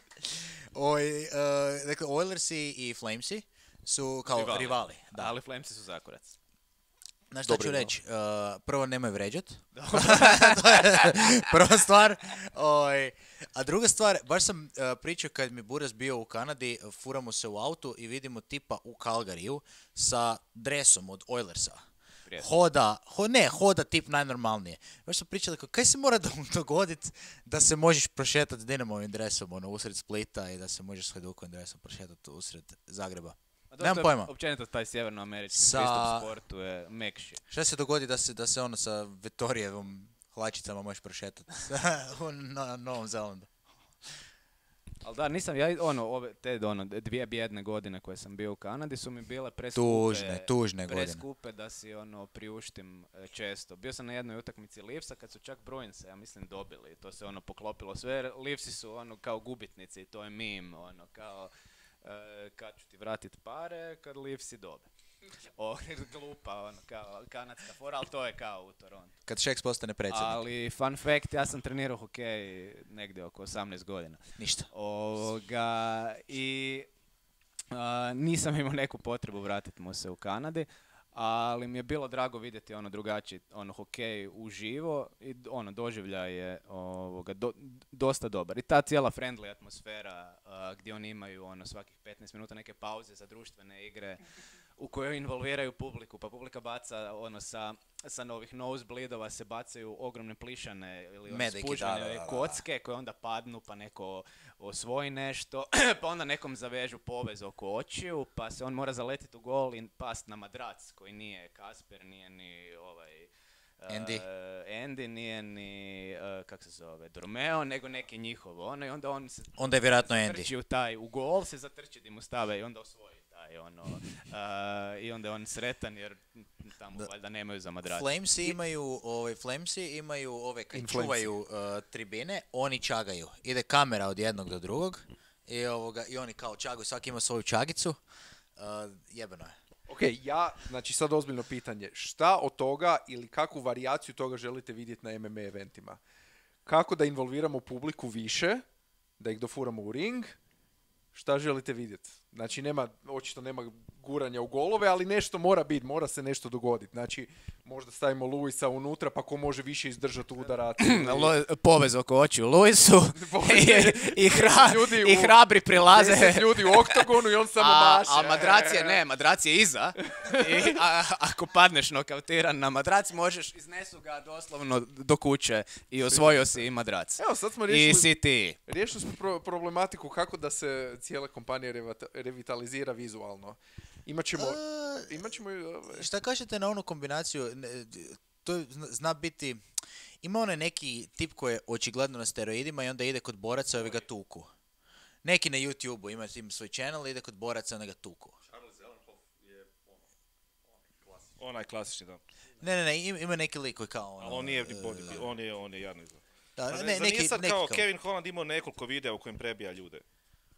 Oj, uh, dakle, Oilersi i Flamesi su kao Rivali. rivali. Da, ali Flamesi su zakurac. Znaš šta Dobro, ću no. reći? Uh, prvo, nemoj vređat. To je prva stvar. Oj, A druga stvar, baš sam uh, pričao kad mi Buras bio u Kanadi, furamo se u autu i vidimo tipa u Calgaryju sa dresom od Oilersa. Hoda, ho, ne, hoda tip najnormalnije. Baš smo pričali, kako, kaj se mora dogoditi da se možeš prošetati s Dinamovim dresom ono, usred Splita i da se možeš s Hajdukovim dresom prošetati usred Zagreba. Nemam pojma. Općenito taj sjevernoamerički Sa... pristup sportu je mekši. Šta se dogodi da se, da se ono sa Vettorijevom hlačicama možeš prošetati na Novom Zelandu? Ali da, nisam, ja, ono, ove, te, ono, dvije bjedne godine koje sam bio u Kanadi su mi bile preskupe, tužne, tužne godine. preskupe da si, ono, priuštim e, često. Bio sam na jednoj utakmici Leafsa kad su čak Bruinse, ja mislim, dobili. To se, ono, poklopilo sve. Leafsi su, ono, kao gubitnici, to je meme, ono, kao, e, kad ću ti vratit pare, kad Leafsi dobe. O, glupa, ono, kao kanadska fora, ali to je kao u Torontu. Kad Šeks postane predsjednik. Ali, fun fact, ja sam trenirao hokej negdje oko osamnaest godina. Ništa. Ovoga, i a, nisam imao neku potrebu vratiti mu se u Kanadi, ali mi je bilo drago vidjeti ono drugačiji ono hokej uživo i ono doživljaj je ovoga, do, dosta dobar. I ta cijela friendly atmosfera a, gdje oni imaju ono svakih petnaest minuta neke pauze za društvene igre u kojoj involviraju publiku, pa publika baca ono sa, sa novih nosebleedova se bacaju ogromne plišane ili ono spužene kocke koje onda padnu pa neko osvoji nešto, pa onda nekom zavežu povez oko očiju, pa se on mora zaletiti u gol i past na madrac koji nije Kasper, nije ni ovaj Andy, uh, Andy nije ni uh, kak se zove Dormeo, nego neki njihov ono i onda on se onda je vjerojatno zatrči Andy u taj u gol, se zatrči di mu stave i onda osvoji. Ono, uh, i onda je on sretan jer tamo valjda nemaju za madrac. Flamesi imaju, ovaj, Flamesi imaju ove kad čuvaju uh, tribine, oni čagaju. Ide kamera od jednog do drugog i, ovoga, i oni kao čagaju, svaki ima svoju čagicu. Uh, jebeno je. Ok, ja, znači sad ozbiljno pitanje. Šta od toga ili kakvu varijaciju toga želite vidjeti na M M A eventima? Kako da involviramo publiku više, da ih dofuramo u ring? Šta želite vidjeti? Znači, nema, očito nema guranja u golove, ali nešto mora biti, mora se nešto dogoditi. Znači, možda stavimo Luisa unutra, pa ko može više izdržati udara. Povez oko očiju Luisu i, i, hra, i hrabri prilaze. deset ljudi u oktagonu i on samo a, maše. A madrac je, ne, madrac je iza. I, a, ako padneš nokautiran na madrac, možeš, iznesu ga doslovno do kuće i osvojio si i madrac. Evo, sad smo riješili, I si ti. Riješili smo pro- problematiku kako da se cijela kompanija revata, revitalizira vizualno. Imaćemo... Uh, imaćemo uh, šta kažete na onu kombinaciju? To zna biti... Ima onaj neki tip koji je očigledno na steroidima i onda ide kod boraca i ovi ga tuku. Neki na YouTube-u ima, ima svoj channel i ide kod boraca i onda ga tuku. Onaj klasični, da. Ne, ne, ne, ima neki lik koji kao ono... Ali on nije body, uh, on je, on je jadno izgleda. Da, ne, ne, neki, neki, sad neki kao kao... Kevin Holland imao nekoliko videa u kojem prebija ljude.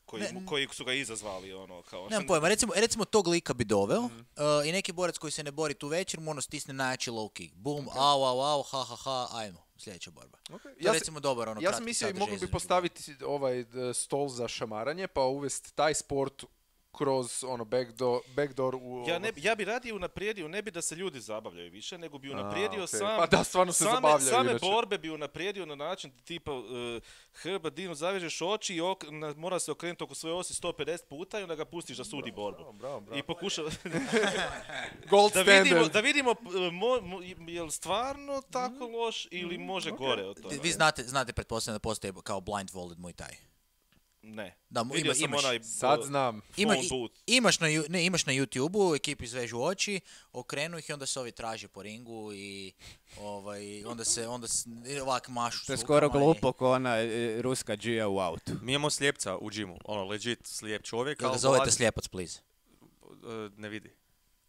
Koji, ne, koji su ga izazvali, ono, kao... Nemam pojma, recimo, recimo tog lika bi doveo mm. uh, i neki borac koji se ne bori tu večer mu ono stisne najjači low kick. Boom, okay. au, au, au, ha, ha, ha, ajmo, sljedeća borba. Okay. To ja je recimo dobar ono ja sam mislio mogli bi postaviti ovaj stol za šamaranje pa uvesti taj sport kroz ono backdoor, backdoor u... Ja, ne, ja bi radije unaprijedio, ne bi da se ljudi zabavljaju više, nego bi unaprijedio okay. sam... Pa da, stvarno se same, zabavljaju. Same inače. borbe bi unaprijedio na način tipa uh, Hrba Dinu zavežeš oči i ok, na, mora se okrenuti oko svoje osi sto pedeset puta i onda ga pustiš da sudi bravo, borbu. Bravo, bravo, bravo. I pokuša... Gold da standard. vidimo, da vidimo mo, mo, je li stvarno tako loš ili može okay. gore od toga. Vi znate, znate pretpostavljam da postoje kao blindfolded Muay Thai. Ne. Da, ima, imaš, onaj, sad znam. Ima, imaš, na, ne, imaš na YouTube-u, ekipi izvežu oči, okrenu ih i onda se ovi traže po ringu i ovaj, onda se onda ovak mašu. To je skoro glupo ko ona e, ruska džija u autu. Mi imamo slijepca u džimu, ono, legit slijep čovjek. Jel ga zovete vlad... slijepac, please? Ne vidi.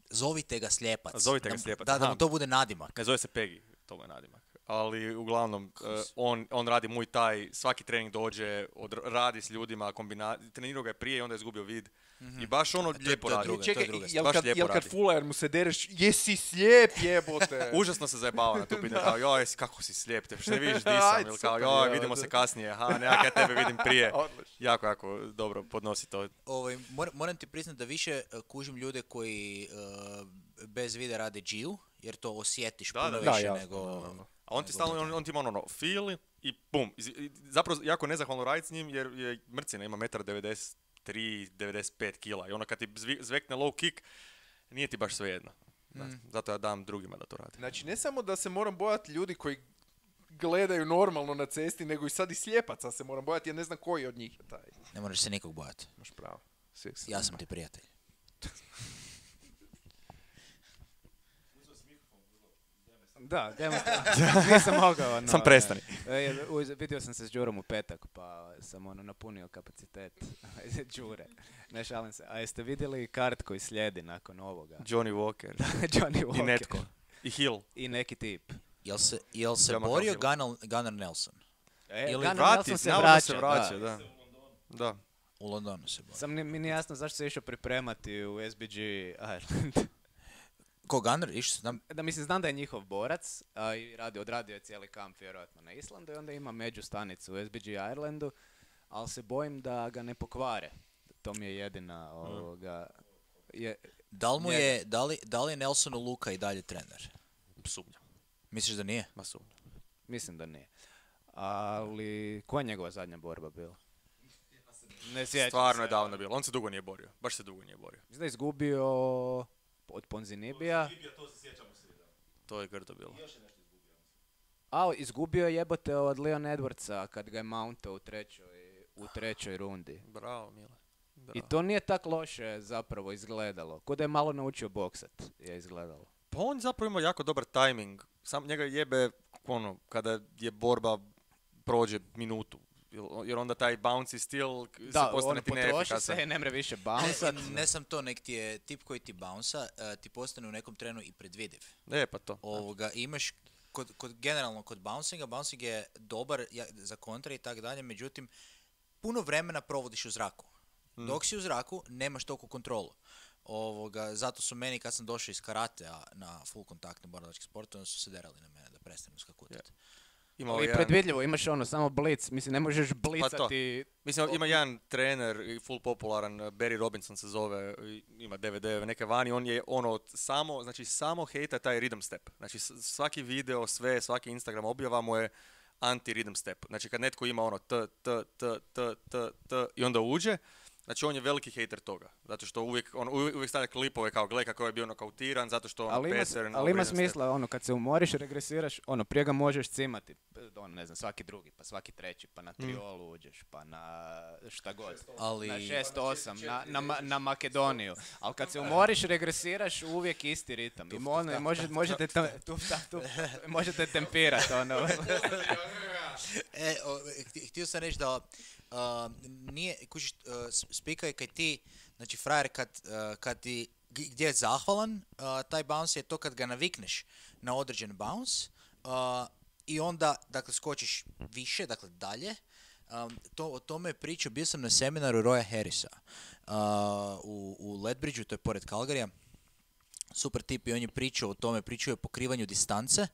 Zovite ga slijepac. Zovite ga slijepac. Da, da mu to bude nadimak. Ne zove se Peggy, to mu je nadimak. Ali uglavnom, uh, on, on radi Muay Thai, svaki trening dođe, od, radi s ljudima, kombina... trenirao ga je prije i onda je izgubio vid. Mm-hmm. I baš ono lijepo radi. Druga, čekaj, jel baš kad, lijepo jel kad radi. Fuller mu se dereš, jesi slijep jebote. Užasno se zajebava na tu pitanje, kao joj, kako si slijep, te što ne vidiš di sam, ili kao joj, vidimo se kasnije, ha, nekak ja tebe vidim prije. Jako, jako dobro podnosi to. Ovaj, moram, moram ti priznati da više uh, kužim ljude koji uh, bez vide rade džiju, jer to osjetiš da, puno da, više da, nego... da, da. A on ti stalno, on, on ti ima ono, feel i pum. I, i, zapravo jako nezahvalno raditi s njim jer je mrcina, ima jedan devedeset tri, devedeset pet kila. I ono kad ti zvi, zvekne low kick, nije ti baš svejedno. Mm. Zato ja dam drugima da to radi. Znači, ne samo da se moram bojati ljudi koji gledaju normalno na cesti, nego i sad i slijepaca se moram bojati, jer ne znam koji od njih je taj. Ne moraš se nikog bojati. Imaš pravo. Svi Ja sam ti prijatelj. Da, demonstrativno. Nisam mogao. Ono, Sam prestani. E, uz- vidio sam se s Đurom u petak, pa sam ono napunio kapacitet Đure. Ne šalim se. A jeste vidjeli kart koji slijedi nakon ovoga? Johnny Walker. Johnny Walker. I netko. I Hill. I neki tip. Jel se, jel se Jama borio Hill. Gunnar, Gunnar Nelson? E, Ili Gunnar Vrati, Nelson se navodno vraća. se vraća, da. da. Da. U Londonu se borio. Sam ni- mi nije jasno zašto se išao pripremati u S B G Ireland. Ko Gunnar? Išao se tam? Da, mislim, znam da je njihov borac, a i radi, odradio je cijeli kamp vjerojatno na Islandu i onda ima međustanicu u S B G Irelandu, ali se bojim da ga ne pokvare. To mi je jedina ovoga... Je, Da li, mu Njega. je, da, li, da li je Nelsonu Luka i dalje trener? Sumnjam. Misliš da nije? Ma sumnjam. mislim da nije. Ali, koja je njegova zadnja borba bila? Ne sjećam Stvarno je se. davno bilo. On se dugo nije borio. Baš se dugo nije borio. Mislim da je izgubio od Ponzinibija. To je grdo bilo. A, izgubio je jebote od Leon Edwardsa kad ga je mountao u trećoj, u trećoj rundi. Bravo, Mile. Bravo. I to nije tak loše zapravo izgledalo. Ko da je malo naučio boksat je izgledalo. Pa on zapravo ima jako dobar tajming. Sam njega jebe ono, kada je borba prođe minutu. Jer- Jer onda taj bouncy stil k- se Da, postane ono ti potroši neefikasan. se, ne mre više Ne, bounsat. ne sam to, nek ti je tip koji ti bounsa, uh, ti postane u nekom trenu i predvidiv. E, pa to. Ovoga, imaš, kod, kod, generalno kod bouncinga, bouncing je dobar ja, za kontra i tak dalje, međutim, puno vremena provodiš u zraku. Dok si u zraku, nemaš toliko kontrolu. Ovoga, zato su meni, kad sam došao iz karatea na full kontaktne borilačke sportove, onda su se derali na mene da prestanu skakutati. Imao Ali jedan- predvidljivo, imaš ono, samo blic. Mislim, ne možeš blicati. Mislim, ima jedan trener, i full popularan, Barry Robinson se zove, i ima D V D neke vani, on je ono, samo, znači samo hejta taj rhythm step. Znači s- svaki video, sve, svaki Instagram objava mu je anti-rhythm step. Znači kad netko ima ono t, t, t, t, t, t i onda uđe, znači on je veliki hejter toga. Zato što uvijek, on uvijek, uvijek stavlja klipove kao gle kako je bio nokautiran, zato što ono Ali ima, pattern, ali ima rhythm step. smisla, ono, kad se umoriš, regresiraš, ono, prije ga možeš cimati, ono, ne znam, svaki drugi, pa svaki treći, pa na triolu uđeš, pa na šta god. Ali- Na šest osam, na, na, Ma- na Makedoniju. Ali kad se umoriš, regresiraš, uvijek isti ritam. I ono, i može, možete, te, tu, ta, tu, možete tempirati, ono. E, o, hti- htio sam reći da uh, nije, kužiš, uh, s- spika je kad ti, znači frajer kad, uh, kad ti, g- gdje je zahvalan, uh, taj bounce je to kad ga navikneš na određen bounce uh, i onda, dakle, skočiš više, dakle, dalje. Um, to, o tome je pričao, bio sam na seminaru Roya Harrisa uh, u, u Lethbridgeu, to je pored Calgaryja. Super tip i on je pričao o tome, pričao je o pokrivanju distance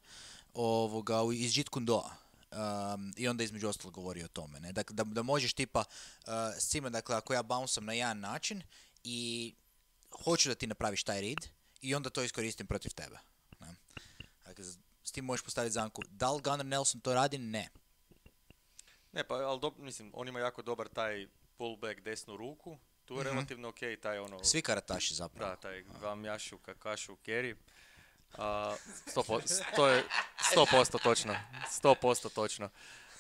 ovoga, u- iz Jeet Kune Do-a. Um, I onda između ostalog govori o tome. Ne? Dakle, da, da možeš tipa uh, s cima, dakle, ako ja bouncam na jedan način i hoću da ti napraviš taj read i onda to iskoristim protiv tebe. Ne? Dakle, s- s tim možeš postaviti zamku. Da li Gunnar Nelson to radi? Ne. Ne, pa, ali do, mislim, on ima jako dobar taj pullback desnu ruku, tu je relativno ok, taj ono... Svi karataši zapravo. Da, taj vam jašu, kakašu, keri. A, sto po- to je sto posto točno. sto posto točno.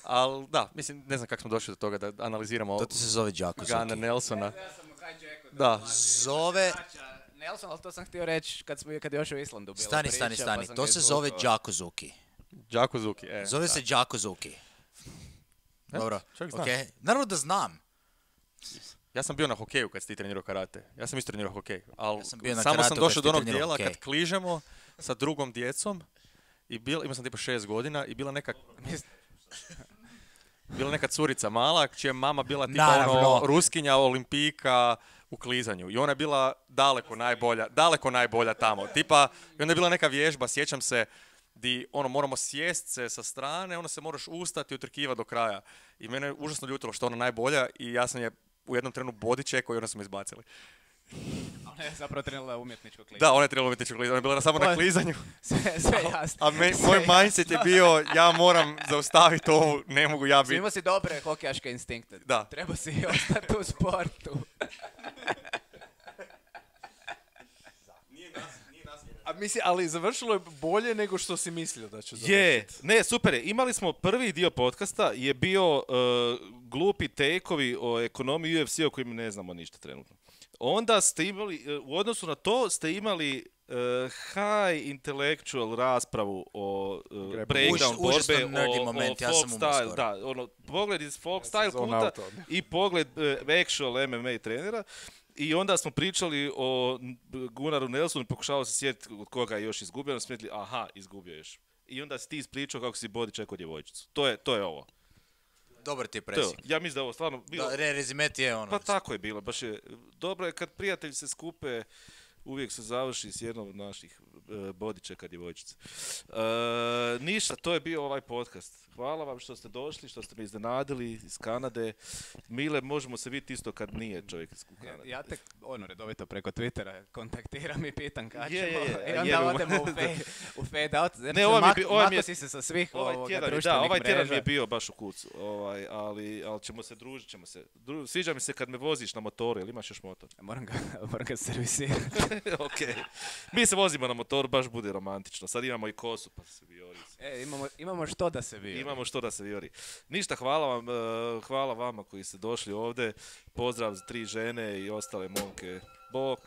Ali da, mislim, ne znam kako smo došli do toga da analiziramo To ti se zove Jacko Gunnar Zuki. Nelsona. Da, Zove... Nelson, ali to sam htio reći kad, smo, kad je još u Islandu bila Stani, priča, stani, pa stani. sam To ga se zove izvukao. Jacko Zuki. Jacko Zuki, e. Zove da. se Jacko Zuki. E, Dobro, čovjek zna. ok. Naravno da znam. Ja sam bio na hokeju kad si ti trenirao karate. Ja sam isto trenirao hokej. Ali Ja sam bio na samo karateu sam kad došao si do ti onog trenirao dijela hokej. kad kližemo sa drugom djecom i bil, imao sam tipa šest godina i bila neka... bila neka curica mala, čija je mama bila tipa Naravno. ono, ruskinja, olimpijka u klizanju. I ona je bila daleko najbolja, daleko najbolja tamo. Tipa, i onda je bila neka vježba, sjećam se, di ono, moramo sjest se sa strane, onda se moraš ustati i utrkivati do kraja. I mene je užasno ljutilo što je ona najbolja i ja sam je u jednom trenu body checkao i onda smo izbacili. Ona je zapravo trenila umjetničko klizanje. Da, ona je trebala umjetničko klizanje, ona je bila samo na Oj. klizanju. Sve, sve jasno. A me, Sve moj jasno. mindset je bio, ja moram zaustaviti ovo, ne mogu ja biti. Imao si dobre hokejaške instinkte. Da. Treba si ostati u sportu. A misli, ali završilo je bolje nego što si mislio da će završiti. Je, ne, super je. Imali smo prvi dio podcasta, je bio uh, glupi take-ovi o ekonomiji U F C o kojim ne znamo ništa trenutno. Onda ste imali, uh, u odnosu na to ste imali uh, high intellectual raspravu o uh, breakdown Už- užasno borbe, nerdy o, moment, o ja sam folk umro style, skoro. da, ono, pogled iz folk Ja sam style zone kuta out odmah. i pogled uh, actual M M A trenera. I onda smo pričali o Gunnaru Nelsonu, pokušavao se sjetiti od koga je još izgubio, onda smo mislili, aha, izgubio je još. I onda si ti ispričao kako si body checkao djevojčicu. To je, to je ovo. Dobar ti je To je ovo. presjek. Ja mislim da je ovo stvarno bilo... Da, re, rezimet je ono. Pa tako je bilo, baš je. Dobro je kad prijatelji se skupe, uvijek se završi s jednom od naših uh, body checka djevojčice. Uh, ništa, to je bio ovaj podcast. Hvala vam što ste došli, što ste me iznenadili iz Kanade. Mile, možemo se vidjeti isto kad nije čovjek iz Kanade. Ja tek ono redovito preko Twittera kontaktiram i pitam kad Je, ćemo. je, je, I onda jebemo. odemo u fade, u fade out. Znači, Ne, ovaj mi je mak- bi- ovaj mi je- mako si se sa svih Ovaj ovoga tjedan, je- da, društvenih ovaj tjedan mi mreža. je bio baš u kucu, ovaj, ali, ali ćemo se družit, ćemo se. Dru, sviđa mi se kad me voziš na motoru, jel imaš još motor? Moram ga, moram ga servisirati. Ok. Mi se vozimo na motoru, baš bude romantično. Sad imamo i kosu, pa se vijori. E, imamo, imamo što da se vidi. Imamo što da se vijori. Ništa, hvala vam, eh, hvala vama koji ste došli ovdje. Pozdrav za tri žene i ostale momke. Bok.